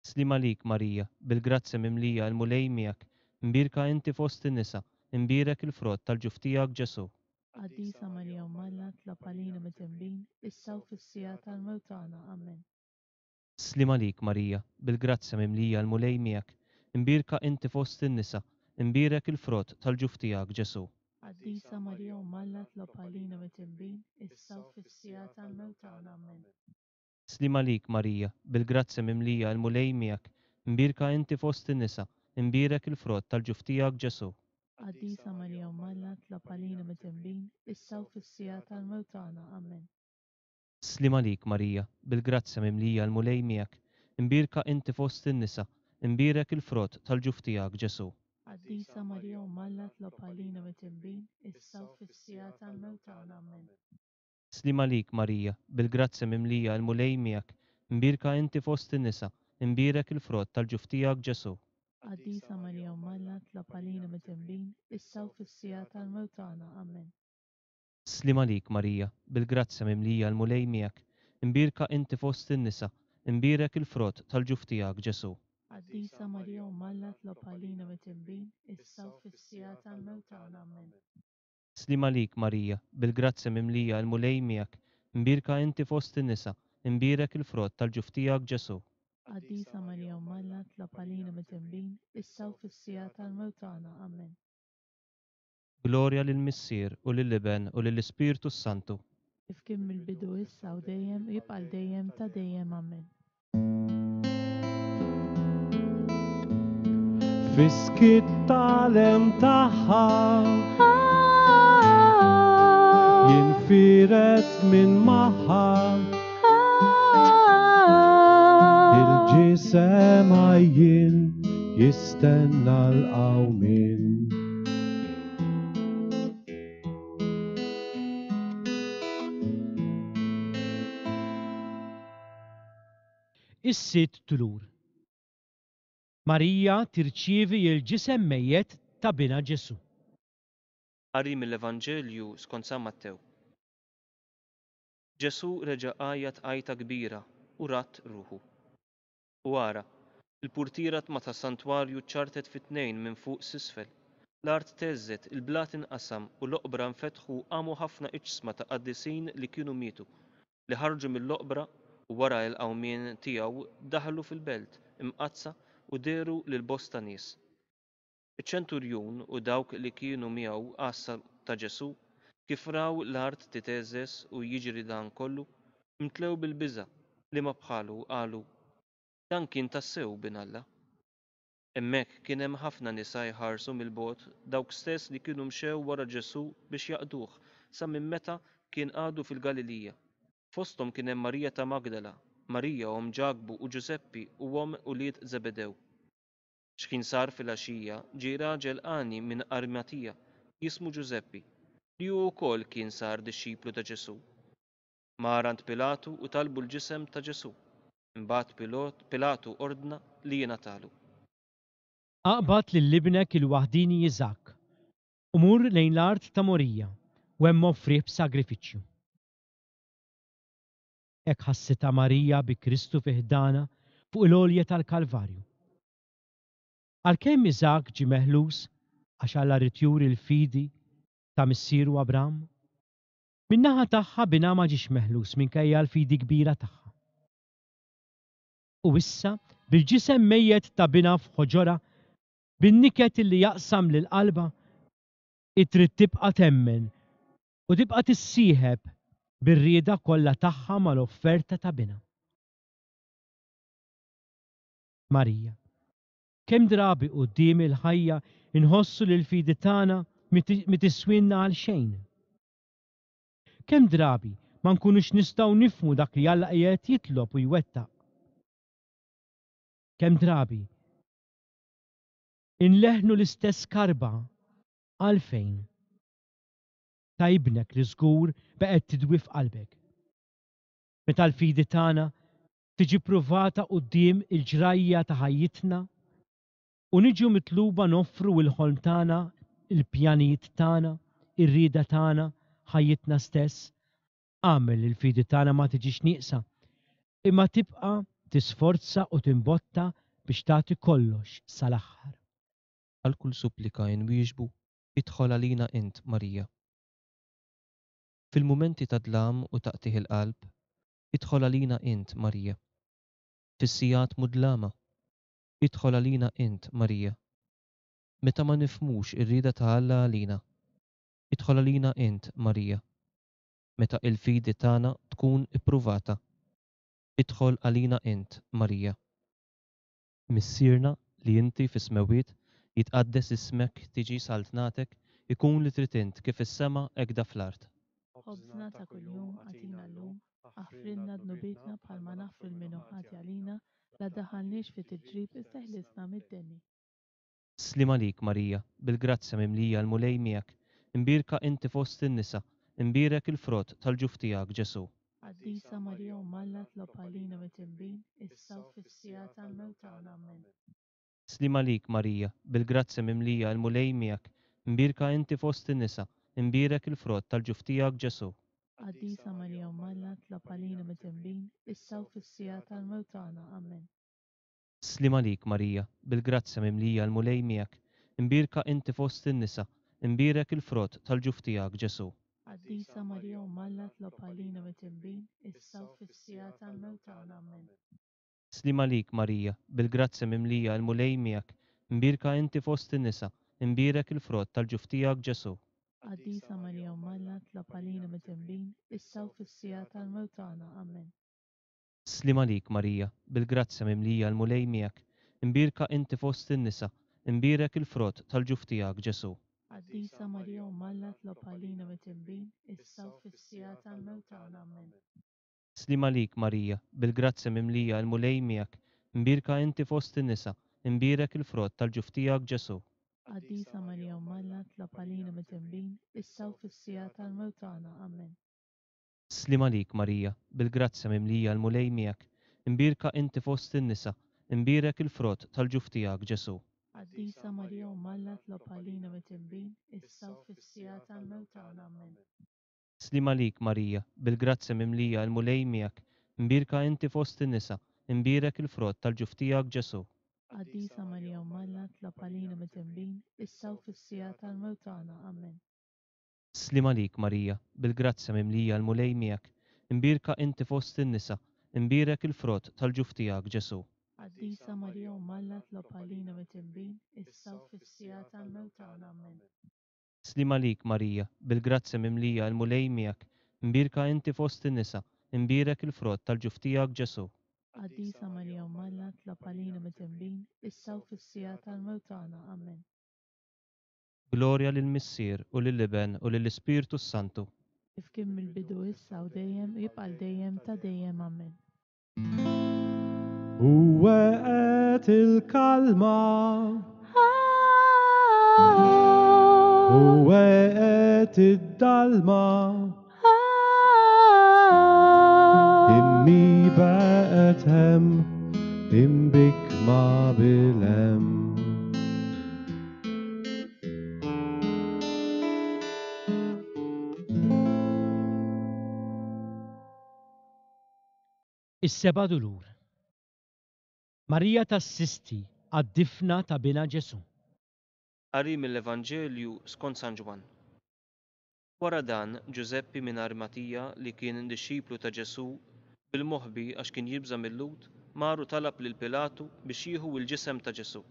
Sliem għalik Marija, bil-grazzja mimlija l-Mulej miegħek, imbierka inti fost in-nisa, imbierek il-frott tal-ġuf tiegħek Ġesù. Qaddisa Marija Omm Alla tlob għalina mitinbin, issa u fis-siegħa tal-mewt tagħna. Amen. Sliem għalik Marija, bil-grazzja mimlija l-Mulej miegħek, imbierka inti fost in-nisa, imbierek il-frott tal-ġuf tiegħek Ġesù. Qaddisa Marija Omm Alla tlob għalina mitinbin, issa u fis-siegħa tal-mewt tagħna. Amen. Sliem għalik Marija, bil-grazzja mimlija l-Mulej miegħek, imbierka inti fost in-nisa, imbierek il-frott tal-ġuf tiegħek Ġesù. Qaddisa Marija Omm Alla, itlob għalina midinbin, issa u fis-siegħa tal-mewt tagħna. Amen. Sliem għalik Marija, bil-grazzja mimlija l-Mulej miegħek, imbierka inti fost in-nisa, imbierek il-frott tal-ġuf tiegħek Ġesù. Qaddisa Marija Omm Alla, itlob għalina midinbin, issa u fis-siegħa tal-mewt tagħna. Amen. Sliem għalik Marija, bil-grazzja mimlija l-Mulej miegħek, imbierka inti fost in-nisa, imbierek il-frott tal-ġuf tiegħek Ġesù. Qaddisa Marija Omm Alla, itlob għalina midinbin, issa u fis-siegħa tal-mewt tagħna. Amen. Sliem għalik Marija, bil-grazzja mimlija l-Mulej miegħek, imbierka inti fost in-nisa, imbierek il-frott tal-ġuf tiegħek Ġesù. Qaddisa Marija Omm Alla, itlob għalina midinbin, issa u fis-siegħa tal-mewt tagħna. Amen. Sliem għalik Marija, bil-grazzja mimlija l-Mulej miegħek, imbierka inti fost in-nisa, imbierek il-frott tal-ġuf tiegħek Ġesù. Qaddisa Marija Omm Alla, itlob għalina midinbin, issa u fis-siegħa tal-mewt tagħna. Amen. Glorja lill-Missier u lill-Iben u lill-Ispirtu s-Santu. Kif kien mill-bidu issa u dejjem u jibqa' għal dejjem ta' dejjem. Amen. Fiskit tal-em tagħha jinfiret minn magħha il-ġisem għajjien jistenna l-qawmien. Is-sitt dulur. Marija tirċievi l-ġisem mejjet ta' binha Ġesù. Qari mill-Evanġelju skont San Mattew. Ġesù reġa' għajat għajta kbira u radd ruħu. U ara, il-purtiera ma tas-santwarju ċartet fi tnejn minn fuq s'isfel. L-art theżżet, il-blat inqasam u l-oqbra nfetħu u qamu ħafna iġsma ta' qaddisin li kienu mietu, li ħarġu mill-oqbra u wara l-qawmien tiegħu daħlu fil-belt imqaddsa u dehru lil bosta nies. Iċ-ċenturjun u dawk li kienu miegħu għassa ta' Ġesù, kif raw l-art titheżżeż u jiġri dan kollu, imtlew bil-biża' li ma bħalu qalu, dan kien tassew bin Alla. Hemmhekk kien hemm ħafna nisa jħarsu mill-bogħod, dawk stess li kienu mxew wara Ġesù biex jaqduh sa minn meta kien għadu fil-Galilija. Fosthom kien hemm Marija ta' Magdala, Marija omm Ġakbu u Ġużeppi u omm ulied Zebedew. X'kien sar filgħaxija ġie raġel għani minn Arimatija jismu Ġużeppi, li hu wkoll kien sar dixxiplu ta' Ġesù. Mar għand Pilatu u talbu l-ġisem ta' Ġesù. Imbagħad Pilatu ordna li jingħatalu. Aqbad lil ibnek il-waħdini Iżakk u mur lejn l-art ta' Morija u hemm offrih b'sagrifiċċju. Hekk ħassitha Marija bi Kristu fi ħdana fuq il-għolja tal-Kalvarju. Għalkemm Iżakk ġie meħlus għax Alla ried juri l-fidi ta' missieru Abram, min-naħa tagħha binha ma ġiex meħlus minkejja l-fidi kbira tagħha. U issa bil-ġisem mejjet ta' binha f'ħoġorha, bin-niket illi jaqsam lil qalbha, trid tibqa' temmen u tibqa' tissieħeb bir-rieda kollha tagħha mal-offerta ta' binha. Marija, kemm drabi quddiem il-ħajja inħossu li l-fidi tagħna mi tiswinna għal xejn. Kemm drabi ma nkunux nistgħu nifhmu dak li Alla qiegħed jitlob u jwettaq. Kemm drabi inleħnu l-istess karba għalfejn ta' ibnek li żgur beqgħet tidwi f'qalbek. Meta l-fidi tagħna tiġi pruvata quddiem il-ġrajja ta' ħajjitna u niġu mitluba noffru l-ħolm tagħna, il-pjanijiet tagħna, ir-rieda tagħna, ħajjitna stess, agħmel li l-fidi tagħna ma tiġix nieqsa, imma tibqa' tisforza u timbotta biex tagħti kollox sal-aħħar. Għal kull supplika inwieġbu, idħol għalina int, Marija. Fil-mumenti ta' dlam u taqtigħ il-qalb, idħol għalina int, Marija. Fis-sigħat mudlama, idħol għalina int, Marija. Meta ma nifhmux ir-rieda ta' Alla għalina, idħol għalina int, Marija. Meta il-fidi tagħna tkun ippruvata, Idħol għalina int, Marija. Missierna li inti fis-smewwiet, jitqaddes ismek, tiġi saltnatek, ikun li trid int kif fis-sema hekk da fl-art. Ħobżna ta' kuljum agħtina llum, aħfrilna dnubietna bħalma naħfru lil min hu ħati għalina, la ddaħħalniex fi tiġrib iżda ħlisna mid-deni. Sliem għalik Marija, bil-grazzja mimlija l-Mulej miegħek, imbierka inti fost in-nisa, imbierek il-frott tal-ġuf tiegħek Ġesù. Qaddisa Marija Omm Alla tlob għalina midinbin, issa u fis-siegħa tal-mewt tagħna. Amen. Sliem għalik Marija, bil-grazzja mimlija l-Mulej miegħek, imbierka inti fost in-nisa, imbierek il-frott tal-ġuf tiegħek Ġesù. Qaddisa Marija Omm Alla tlob għalina midinbin, issa u fis-siegħa tal-mewt tagħna. Amen. Sliem għalik Marija, bil-grazzja mimlija l-Mulej miegħek, imbierka inti fost in-nisa, imbierek il-frott tal-ġuf tiegħek Ġesù. Qaddisa Marija Omm Alla tlob għalina midinbin, issa u fis-siegħa tal-mewt tagħna. Amen. Sliem għalik Marija, bil-grazzja mimlija l-Mulej miegħek, imbierka inti fost in-nisa, imbierek il-frott tal-ġuf tiegħek Ġesù. Qaddisa Marija Omm Alla tlob għalina midinbin, issa u fis-siegħa tal-mewt tagħna. Amen. Sliem għalik Marija, bil-grazzja mimlija l-Mulej miegħek, imbierka inti fost in-nisa, imbierek il-frott tal-ġuf tiegħek Ġesù. Qaddisa Marija Omm Alla tlob għalina midinbin, issa u fis-siegħa tal-mewt tagħna. Amen. Sliem għalik Marija, bil-grazzja mimlija l-Mulej miegħek, imbierka inti fost in-nisa, imbierek il-frott tal-ġuf tiegħek Ġesù. Qaddisa Marija Omm Alla tlob għalina midinbin, issa u fis-siegħa tal-mewt tagħna. Amen. Sliem għalik Marija, bil-grazzja mimlija l-Mulej miegħek, imbierka inti fost in-nisa, imbierek il-frott tal-ġuf tiegħek Ġesù. Qaddisa Marija Omm Alla tlob għalina midinbin, issa u fis-siegħa tal-mewt tagħna. Amen. Sliem għalik Marija, bil-grazzja mimlija l-Mulej miegħek, imbierka inti fost in-nisa, imbierek il-frott tal-ġuf tiegħek Ġesù. Qaddisa Marija Omm Alla tlob għalina midinbin, issa u fis-siegħa tal-mewt tagħna. Amen. Sliem għalik Marija, bil-grazzja mimlija l-Mulej miegħek, imbierka inti fost in-nisa, imbierek il-frott tal-ġuf tiegħek Ġesù. Qaddisa Marija Omm Alla tlob għalina midinbin, issa u fis-siegħa tal-mewt tagħna. Amen. Sliem għalik Marija, bil-grazzja mimlija l-Mulej miegħek, imbierka inti fost in-nisa, imbierek il-frott tal-ġuf tiegħek Ġesù. Qaddisa Marija Omm Alla tlob għalina midinbin, issa u fis-siegħa tal-mewt tagħna. Amen. Glorja lill-Missier u lill-Iben u lill-Ispirtu s-Santu. Kif kien mill-bidu issa u dejjem jibqa' l dejjem ta' dejjem. Amen. U waqgħet il-kalma, u waqgħet id-dalma, immi baqgħet hemm, imbikma bil-hemm. Is-seba' dulur. Marija tassisti għad-difna ta' binha Ġesù. Qari mill-Evanġelju skont San Ġwann. Wara dan, Ġużeppi minn Arimatija, li kien dixxiplu ta' Ġesù, bil-moħbi għax kien jibża' mil-Lhud, mar u talab lil Pilatu biex jieħu l-ġisem ta' Ġesù.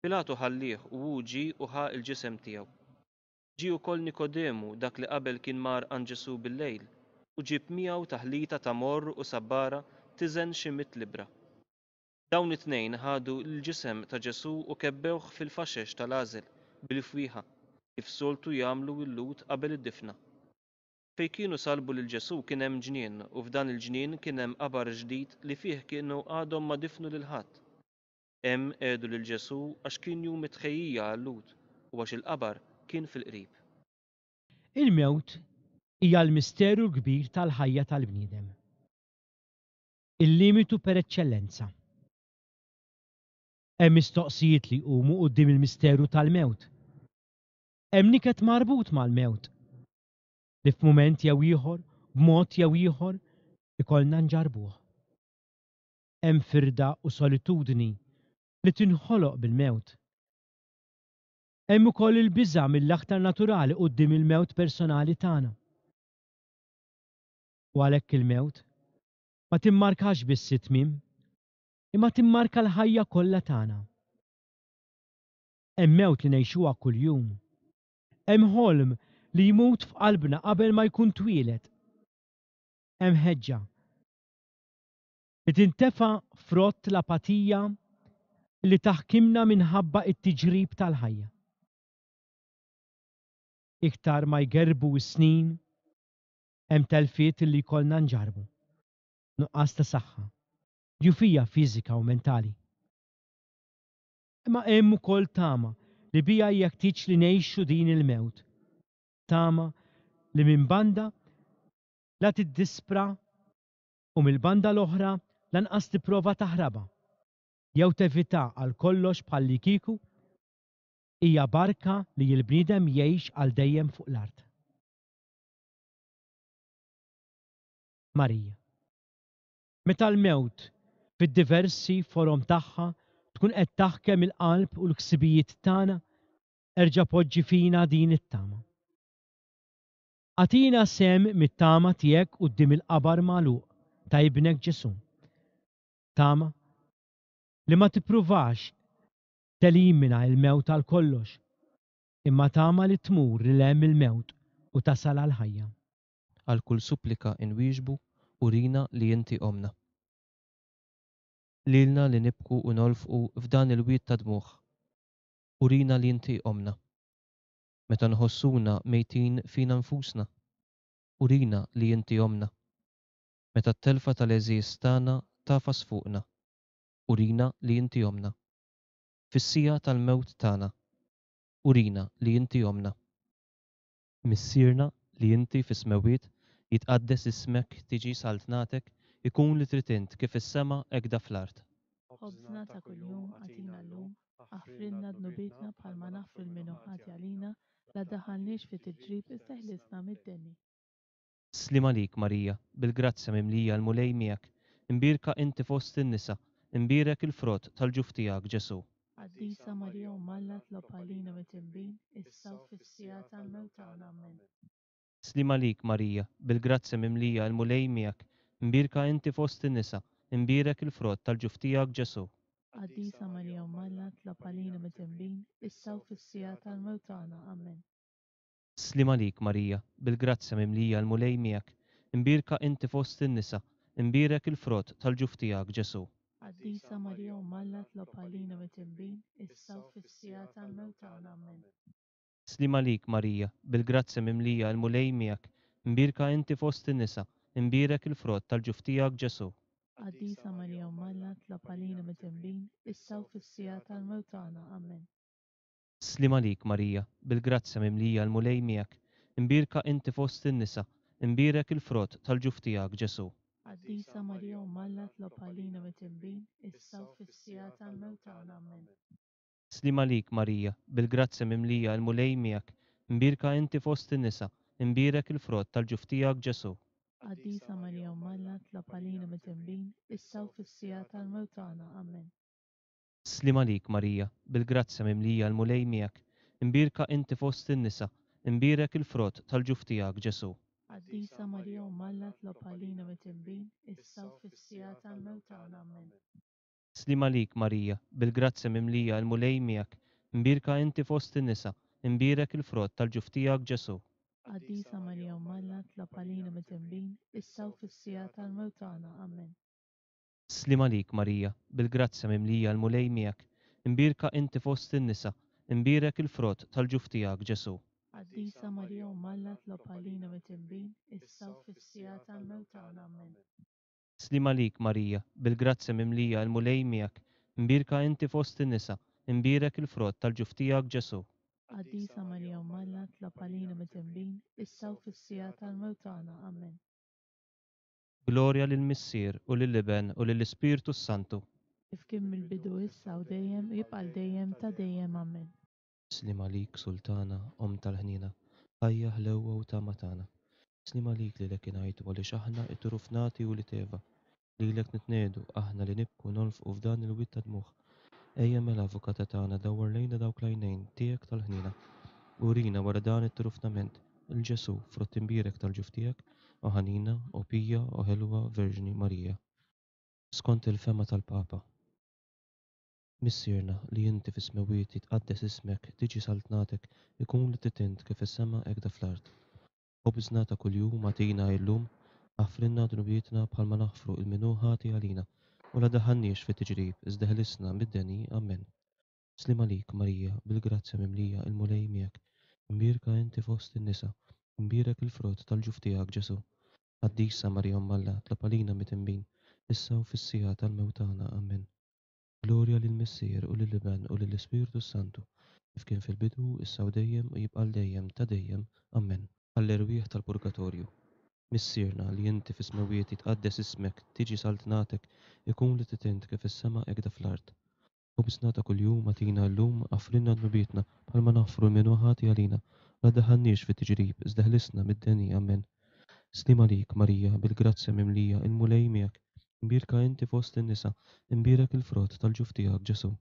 Pilatu ħallih u hu ġie u ħa l-ġisem tiegħu. Ġie wkoll Nikodemu, dak li qabel kien mar għand Ġesù bil-lejl, u ġieb miegħu taħlita ta' morr u sabbara tiżen xi mitt libra. Dawn it-tnejn ħadu l-ġisem ta' Ġesù u kebbewh fil-faxex tal-għażel bil-fwieħa, kif soltu jagħmlu l-Lhud qabel id-difna. Fejn kienu salbu lil Ġesù kien hemm ġnien, u f'dan il-ġnien kien hemm qabar ġdid li fih kienu għadhom ma difnu lil ħadd. Hemm qiegħdu lil Ġesù għax kien jum it-tħejjija għal-Lhud u għax il-qabar kien fil-qrib. Il-mewt hija l-misteru l-kbir tal-ħajja tal-bniedem. Il-limitu per eċċellenza. Hemm mistoqsijiet li jqumu quddiem il-misteru tal-mewt. Hemm niket marbut mal-mewt li f'mument jew ieħor, b'mod jew ieħor, ikollna nġarbuh. Hemm firda u solitudni li tinħoloq bil-mewt. Hemm ukoll il-biża' mill-aktar naturali quddiem il-mewt personali tagħna. U għalhekk il-mewt ma timmarkax biss it-tmiem, imma timmarka l-ħajja kollha tagħna. Hemm mewt li ngħixuha kuljum. Hemm ħolm li jmut f'qalbna qabel ma jkun twieled. Hemm ħeġġa Li tintefa frott l-apatija li taħkimna minħabba it-tiġrib tal-ħajja. Iktar ma jgerbu s-snin, hemm telfiet li jkollna nġarbu, nuqqas ta' saħħa, djufija fiżika u mentali. Imma hemm ukoll tama li bija jeħtieġ li ngħixu din il-mewt. Tama li minn banda la tiddispra u mill-banda l-oħra lanqas tipprova taħrabha jew tevita għal kollox bħallikieku hija barka li l-bniedem jgħix għal dejjem fuq l-art. Marija. Meta l-mewt fid-diversi forom tagħha tkun qed taħkem il-qalb u l-ħsibijiet tagħna, erġa' poġġi fina din it-tama. Agħtina sehem mit-tama tiegħek quddiem il-qabar magħluq ta' ibnek Ġesù. Tama li ma tippruvax telimina l-mewt għal kollox, imma tama li tmur lil hemm il-mewt u tasal għal ħajja. Għal kull supplika inwieġbu, urina li inti omna. Lilna li nibku u nolfqu f'dan il-wied ta' dmugħ, urina li inti omna. Meta nħossuna mejtin fina nfusna, urina li inti omna. Meta t-telfa tal-għeżież tagħna tafas fuqna, urina li inti omna. Fis-siegħa tal-mewt tagħna, urina li inti omna. Missierna li inti fis-smewwiet, jitqaddes ismek, tiġi saltnatek, ikun li trid int kif is-sema hekk fl-art. Ħobżna ta' kuljum agħtina llum, aħfrilna dnubietna bħalma naħfru lil min hu ħati għalina, la ddaħħalniex fi tiġrib iżda ħlisna mid-deni. Sliem għalik Marija, bil-grazzja mimlija l-Mulej miegħek, imbierka inti fost in-nisa, imbierek il-frott tal-ġuf tiegħek Ġesù. Qaddisa Marija Omm Alla tlob għalina midinbin, issa u fis-siegħa tal-mewt tagħna. Amen. Sliem għalik Marija, bil-grazzja mimlija l-Mulej miegħek, imbierka inti fost in-nisa, imbierek il-frott tal-ġuf tiegħek Ġesù. Qaddisa Marija Omm Alla tlob għalina midinbin, issa u fis-siegħa tal-mewt tagħna. Amen. Sliem għalik Marija, bil-grazzja mimlija l-Mulej miegħek, imbierka inti fost in-nisa, imbierek il-frott tal-ġuf tiegħek Ġesù. Qaddisa Marija Omm Alla tlob għalina midinbin, issa u fis-siegħa tal-mewt tagħna. Amen. Sliem għalik Marija, bil-grazzja mimlija l-Mulej miegħek, imbierka inti fost in-nisa, imbierek il-frott tal-ġuf tiegħek Ġesù. Qaddisa Marija Omm Alla tlob għalina midinbin, issa u fis-siegħa tal-mewt tagħna. Amen. Sliem għalik Marija, bil-grazzja mimlija l-Mulej miegħek, imbierka inti fost in-nisa, imbierek il-frott tal-ġuf tiegħek Ġesù. Qaddisa Marija Omm Alla tlob għalina midinbin, issa u fis-siegħa tal-mewt tagħna. Amen. Sliem għalik Marija, bil-grazzja mimlija l-Mulej miegħek, imbierka inti fost in-nisa, imbierek il-frott tal-ġuf tiegħek Ġesù. Qaddisa Marija Omm Alla tlob għalina midinbin, issa u fis-siegħa tal-mewt tagħna. Amen. Sliem għalik Marija, bil-grazzja mimlija l-Mulej miegħek, imbierka inti fost in-nisa, imbierek il-frott tal-ġuf tiegħek Ġesù. Qaddisa Marija Omm Alla tlob għalina midinbin, issa u fis-siegħa tal-mewt tagħna. Amen. Sliem għalik Marija, bil-grazzja mimlija l-Mulej miegħek, imbierka inti fost in-nisa, imbierek il-frott tal-ġuf tiegħek Ġesù. Qaddisa Marija Omm Alla tlob għalina midinbin, issa u fis-siegħa tal-mewt tagħna. Amen. Sliem għalik Marija, bil-grazzja mimlija l-Mulej miegħek, imbierka inti fost in-nisa, imbierek il-frott tal-ġuf tiegħek Ġesù. Qaddisa Marija Omm Alla tlob għalina midinbin, issa u fis-siegħa tal-mewt tagħna. Amen. Sliem għalik Marija, bil-grazzja mimlija l-Mulej miegħek, imbierka inti fost in-nisa, imbierek il-frott tal-ġuf tiegħek Ġesù. Qaddisa Marija Omm Alla tlob għalina midinbin, issa u fis-siegħa tal-mewt tagħna. Amen. Glorja lill-Missier u lill-Iben u lill-Ispirtu s-Santu. Kif kien mill-bidu issa u dejjem u jibqa' dejjem ta' dejjem. Amen. Sliem għalik Sultana, Omm tal-ħniena, ħajja ħlewwa u tama tagħna. Sliem għalik lilek ingħajtu għaliex aħna it-turufnati u li teva. Lilek nitnedu aħna li nibku nolfqu f'dan il-wied ta' dmugħ. Ejja mela avukata tagħna dawwar lejna dawk l-għajnejn tiegħek tal-ħniena. Urina wara dan it-turufnament il-Ġesù frott imbierek tal-ġuf tiegħek, o ħanina, o pija, o ħelwa Verġni Marija. Skont il-fema tal-Papa. Missierna li inti fis-smewwiet jitqaddes ismek, tiġi saltnatek, ikun li trid int kif is-sema hekk fl-art. Ħobżna ta' kuljum agħtina illum, Aħfrilna dnubietna bħalma naħfru 'l min hu ħati għalina, u la daħalniex fit-tiġrib, iżda ħelisna mid-deni. Amen. Sliem għalik, Marija, bil-grazzja mimlija, il-Mulej miegħek. Imbierka inti fost in-nisa, imbierek il-frott tal-ġuf tiegħek, Ġesù. Qaddisa Marija Omm Alla, itlob għalina midinbin, issa u fis-siegħa tal-mewt tagħna. Amen. Glorja lill-Missier u lill-Iben u lill-Ispirtu Santu, kif kien fil-bidu, issa u dejjem u jibqa' dejjem ta' dejjem. Amen. Għall-erwieħ tal-purgatorju. Missierna li inti fis-smewwiet, jitqaddes ismek, tiġi saltnatek, ikun li trid int kif fis-sema hekk fl-art. Ħobżna ta' kuljum agħtina llum, aħfrilna dnubietna bħalma naħfru 'l min hu ħati għalina, la daħalniex fit-tiġrib, iżda ħlisna mid-deni. Amen. Sliem għalik, Marija, bil-grazzja mimlija, il-Mulej miegħek. Imbierka inti fost in-nisa, imbierek il-frott tal-ġuf tiegħek, Ġesù.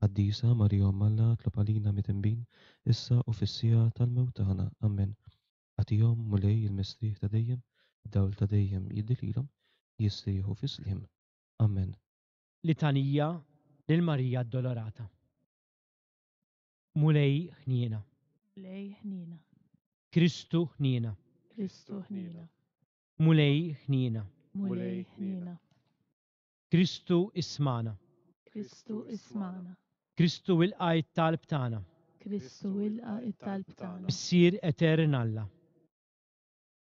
Qaddisa Marija Omm Alla, itlob għalina midinbin, issa u fis-siegħa tal-mewt tagħna. Amen. Agħtihom, Mulej, il-mistrieħ ta' dejjem, id-dawl ta' dejjem jiddi lilhom, jistrieħu fis-sliem. Amen. Litanija lil Marija Addolorata. Mulej ħniena. Mulej ħniena. Kristu ħniena. Kristu ħniena. Mulej ħniena. Mulej ħniena. Kristu ismagħna. Kristu ismagħna. Kristu ilqa' it-talb tagħna. Kristu ilqa' it-talb tagħna. Missier etern Alla.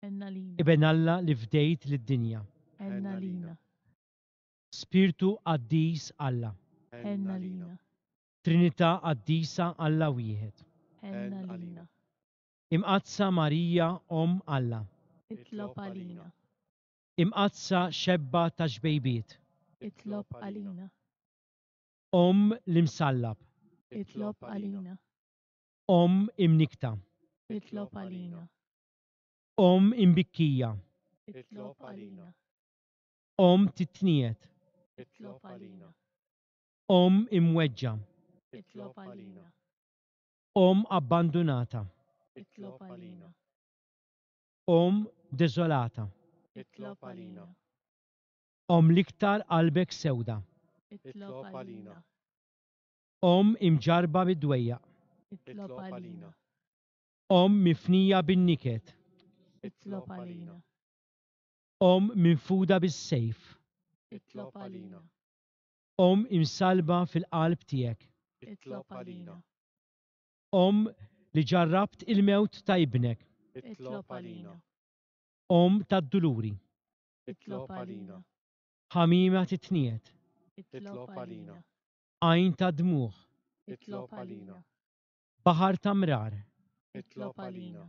Ħenn għalina. Iben Alla li fdejt lid-dinja. Ħenn għalina. Spirtu qaddis Alla. Ħenn għalina. Trinità qaddisa Alla wieħed. Ħenn għalina. Imqaddsa Marija Omm Alla. Itlob għalina. Imqaddsa xebba ta' xbejbiet. Itlob għalina. Omm l-imsallab. Itlob għalina. Omm imnikta. Itlob għalina. Omm imbikkija. Itlob għalina. Omm titniet. Itlob għalina. Omm imweġġa. Itlob għalina. Omm abbandunata. Itlob għalina. Omm deżolata. Itlob għalina. Omm l-iktar qalbek sewda. Itlob għalina. Omm imġarba bid-dwejjaq. Itlob għalina. Omm mifnija bin-niket. Itlob għalina. Omm minfuda bis-sejf. Itlob għalina. Omm imsalba fil-qalb tiegħek. Itlob għalina. Omm li ġarrabt il-mewt ta' ibnek. Itlob għalina. Omm tad-duluri. Itlob għalina. Ħamima titniet. Itlob għalina. Għajn ta' dmugħ. Itlob għalina. Baħar ta' mrar. Itlob għalina.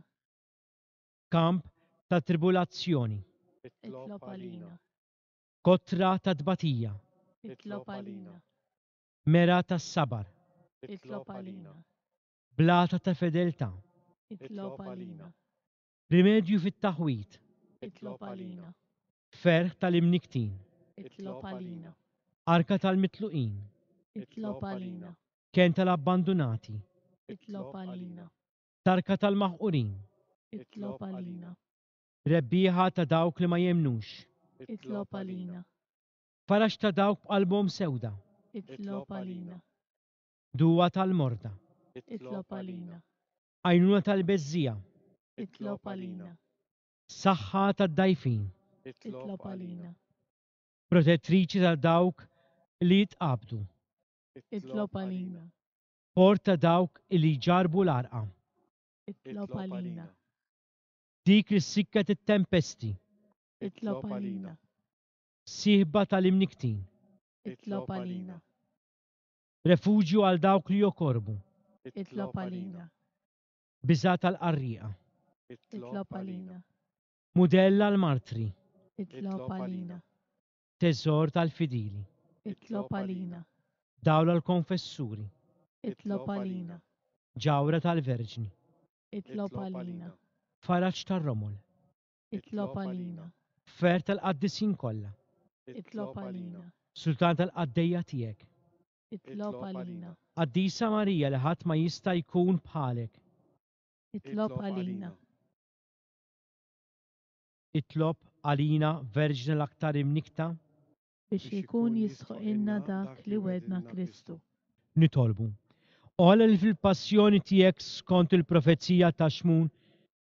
Kamp ta' tribulazzjoni. Itlob għalina. Kotra ta' tbatija. Itlob għalina. Mera tas-sabar. Itlob għalina. Blata ta' fedeltà. Itlob għalina. Rimedju fit-taħwit. Itlob għalina. Ferħ tal-imniktin. Itlob għalina. Arka tal-mitluqin. Itlob għalina. Ken tal-abbandunati. Itlob għalina. Tarka tal-maħqurin. Itlob għalina. Rebbieħa ta' dawk li ma jemnux. Itlob għalina. Faraġ ta' dawk b'qalbhom sewda. Itlob għalina. Duwa tal-morda. Itlob għalina. Għajnuna tal-beżżija. Itlob għalina. Saħħa tad-dajfin. Itlob għalina. Protettriċi ta' dawk li jitqabdu. Itlob għalina. Port ta' dawk li jġarbu l-arqa. Itlob għalina. Dik li ssikket it-tempesti. Itlob għalina. Sieħba tal-imniktin. Itlob għalina. Refuġju għal dawk li jokorbu. Itlob għalina. Biża' tal-qarrieqa. Itlob għalina. Mudell għall-martri. Itlob għalina. Teżor tal-fidili. Itlob għalina. Dawl għall-konfessuri. Itlob għalina. Ġawra tal-Verġni. Itlob għalina. Faraġ tar-romol. Itlob għalina. Fer tal-qaddisin kollha. Itlob għalina. Sultan tal-qaddejja tiegħek. Itlob għalina. Qaddisa Marija li ħadd ma jista' jkun bħalek. Itlob għalina. Itlob għalina Verġni l-aktar imnikta. Biex ikun jistħoqilna dak li wedna Kristu. Nitolbu. O Alla li fil-passjoni tiegħek skont il-profezija ta' Xmun,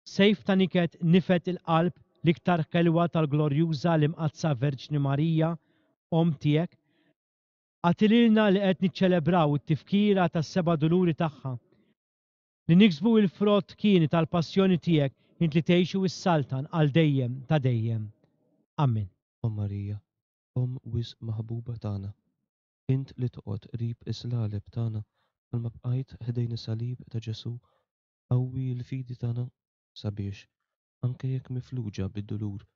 sejf ta' niket nifed il-qalb l-iktar ħelwa tal-glorjuża l-Imqaddsa Verġni Marija, Omm tiegħek, agħti lilna li qed niċċelebraw it-tifkira tas-seba' duluri tagħha, li niksbu il-frott kieni tal-passjoni tiegħek int li tgħixu s-saltan għal dejjem ta' dejjem. Amen. O Marija, Omm wisq maħbuba tagħna, int li toqgħod qrib is-slaleb tagħna bħalma bqajt ħdejn is-salib ta' Ġesù, qawwi l-fidi tagħna sabiex, anke jekk mifluġa bid-dulur,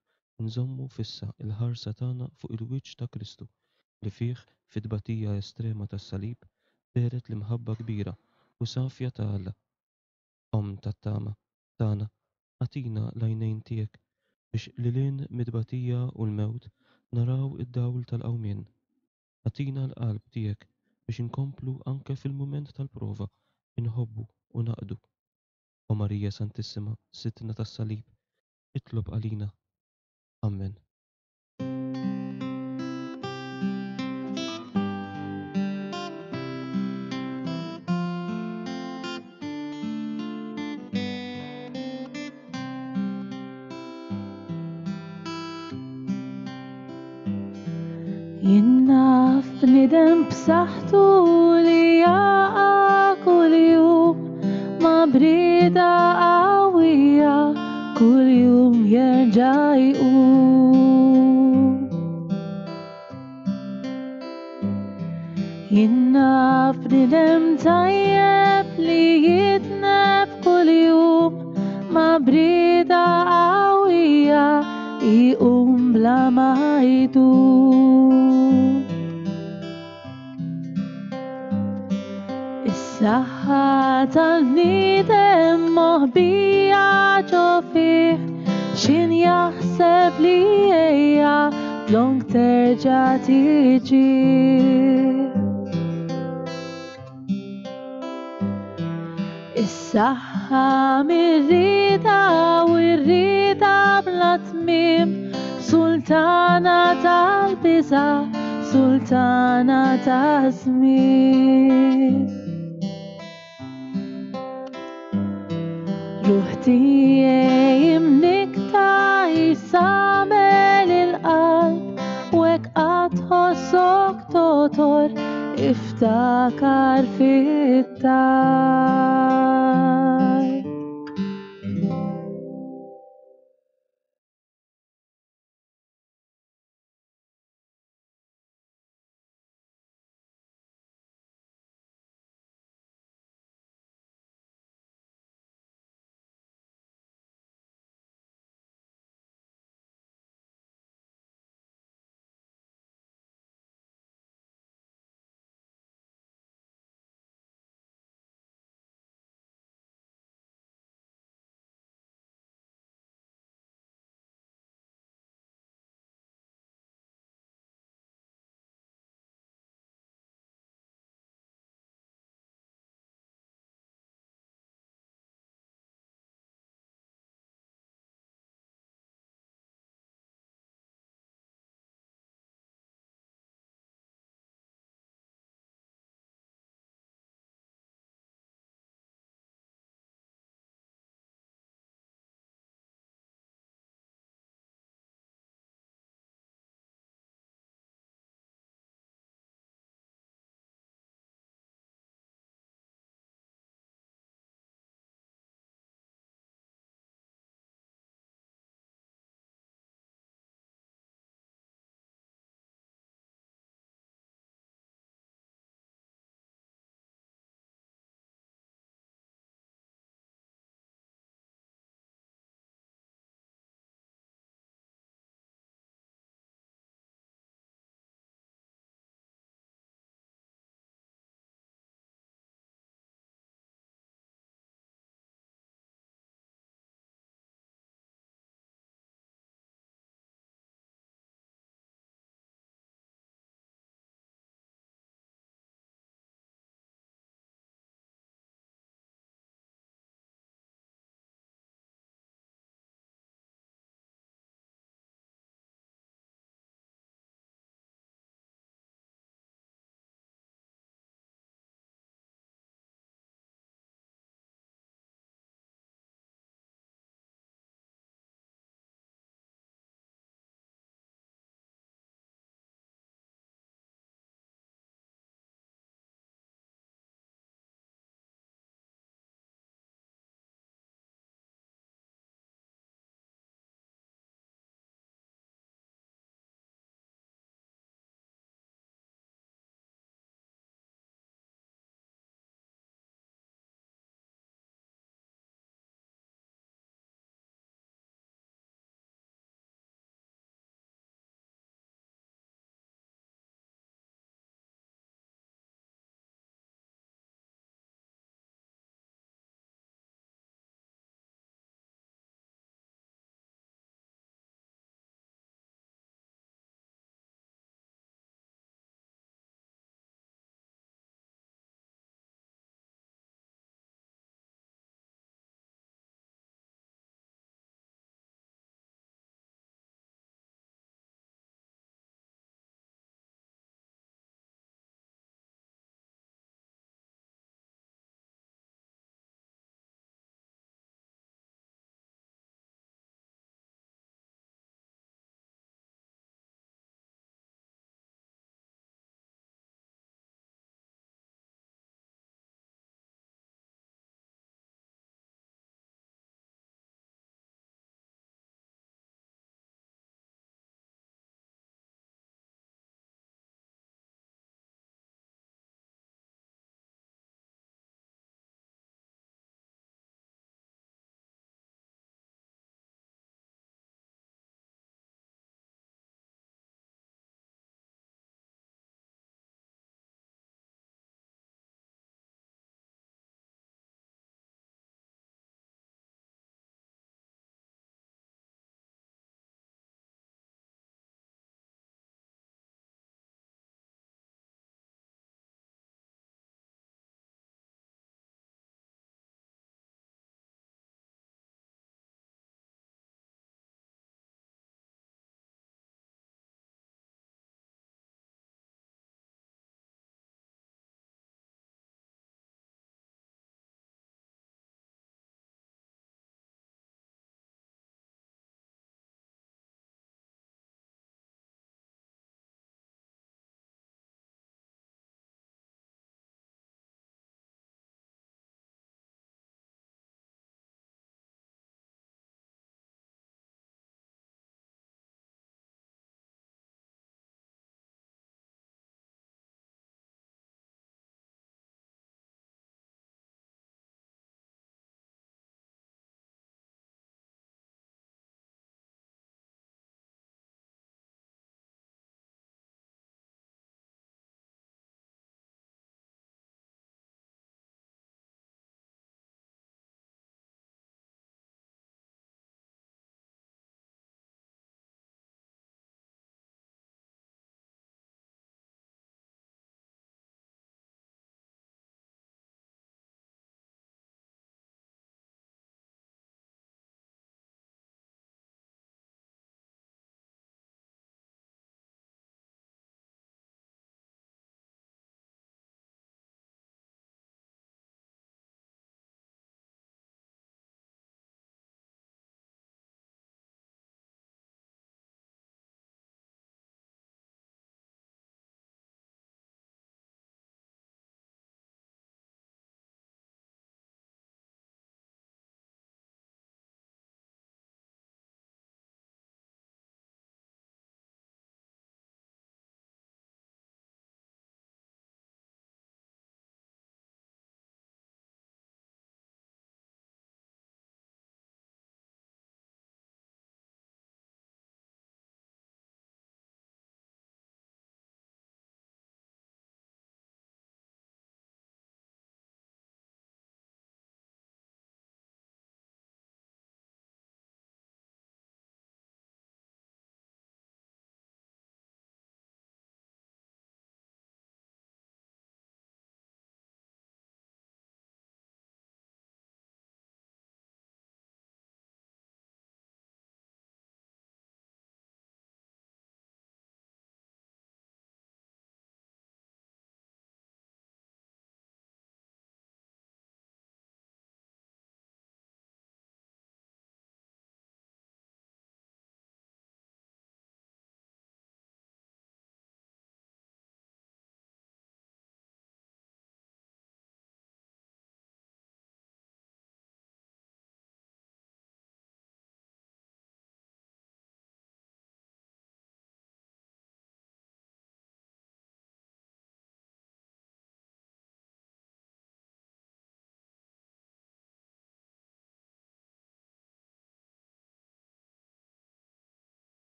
nżommu fissa l-ħarsa tagħna fuq il-wiċċ ta' Kristu li fih fit-tbatija estrema tas-salib dehret l-imħabba kbira u safja ta' Alla. Omm tat-tama tagħna, agħtina l-għajnejn tiegħek biex lilhinn mid-tbatija u l-mewt naraw id-dawl tal-qawmien. Agħtina l-qalb tiegħek biex inkomplu anke fil-mument tal-prova inħobbu u naqdu. O Marija Santissima, Sidna tas-Salib, itlob għalina. Amen. Jien naf bniedem b'saħħtu li jaqa' kuljum ma' brida qawwija kuljum jerġa' jqum. Jien naf bniedem tajjeb li jitneb kuljum ma' brida qawwija jqum bla ma jdum. Is-saħħa tal-bniedem moħbija ġo fih, x'in jaħseb li hija dlonk terġa' tiġi. Is-saħħa mir-rieda u r-rieda bla tmiem, sultana tal-biża', sultana taż-żmien. Ruħ tiegħi imnikta jisamel il-qalb, u hekk qatt tħossok totor iftakar fit-talb.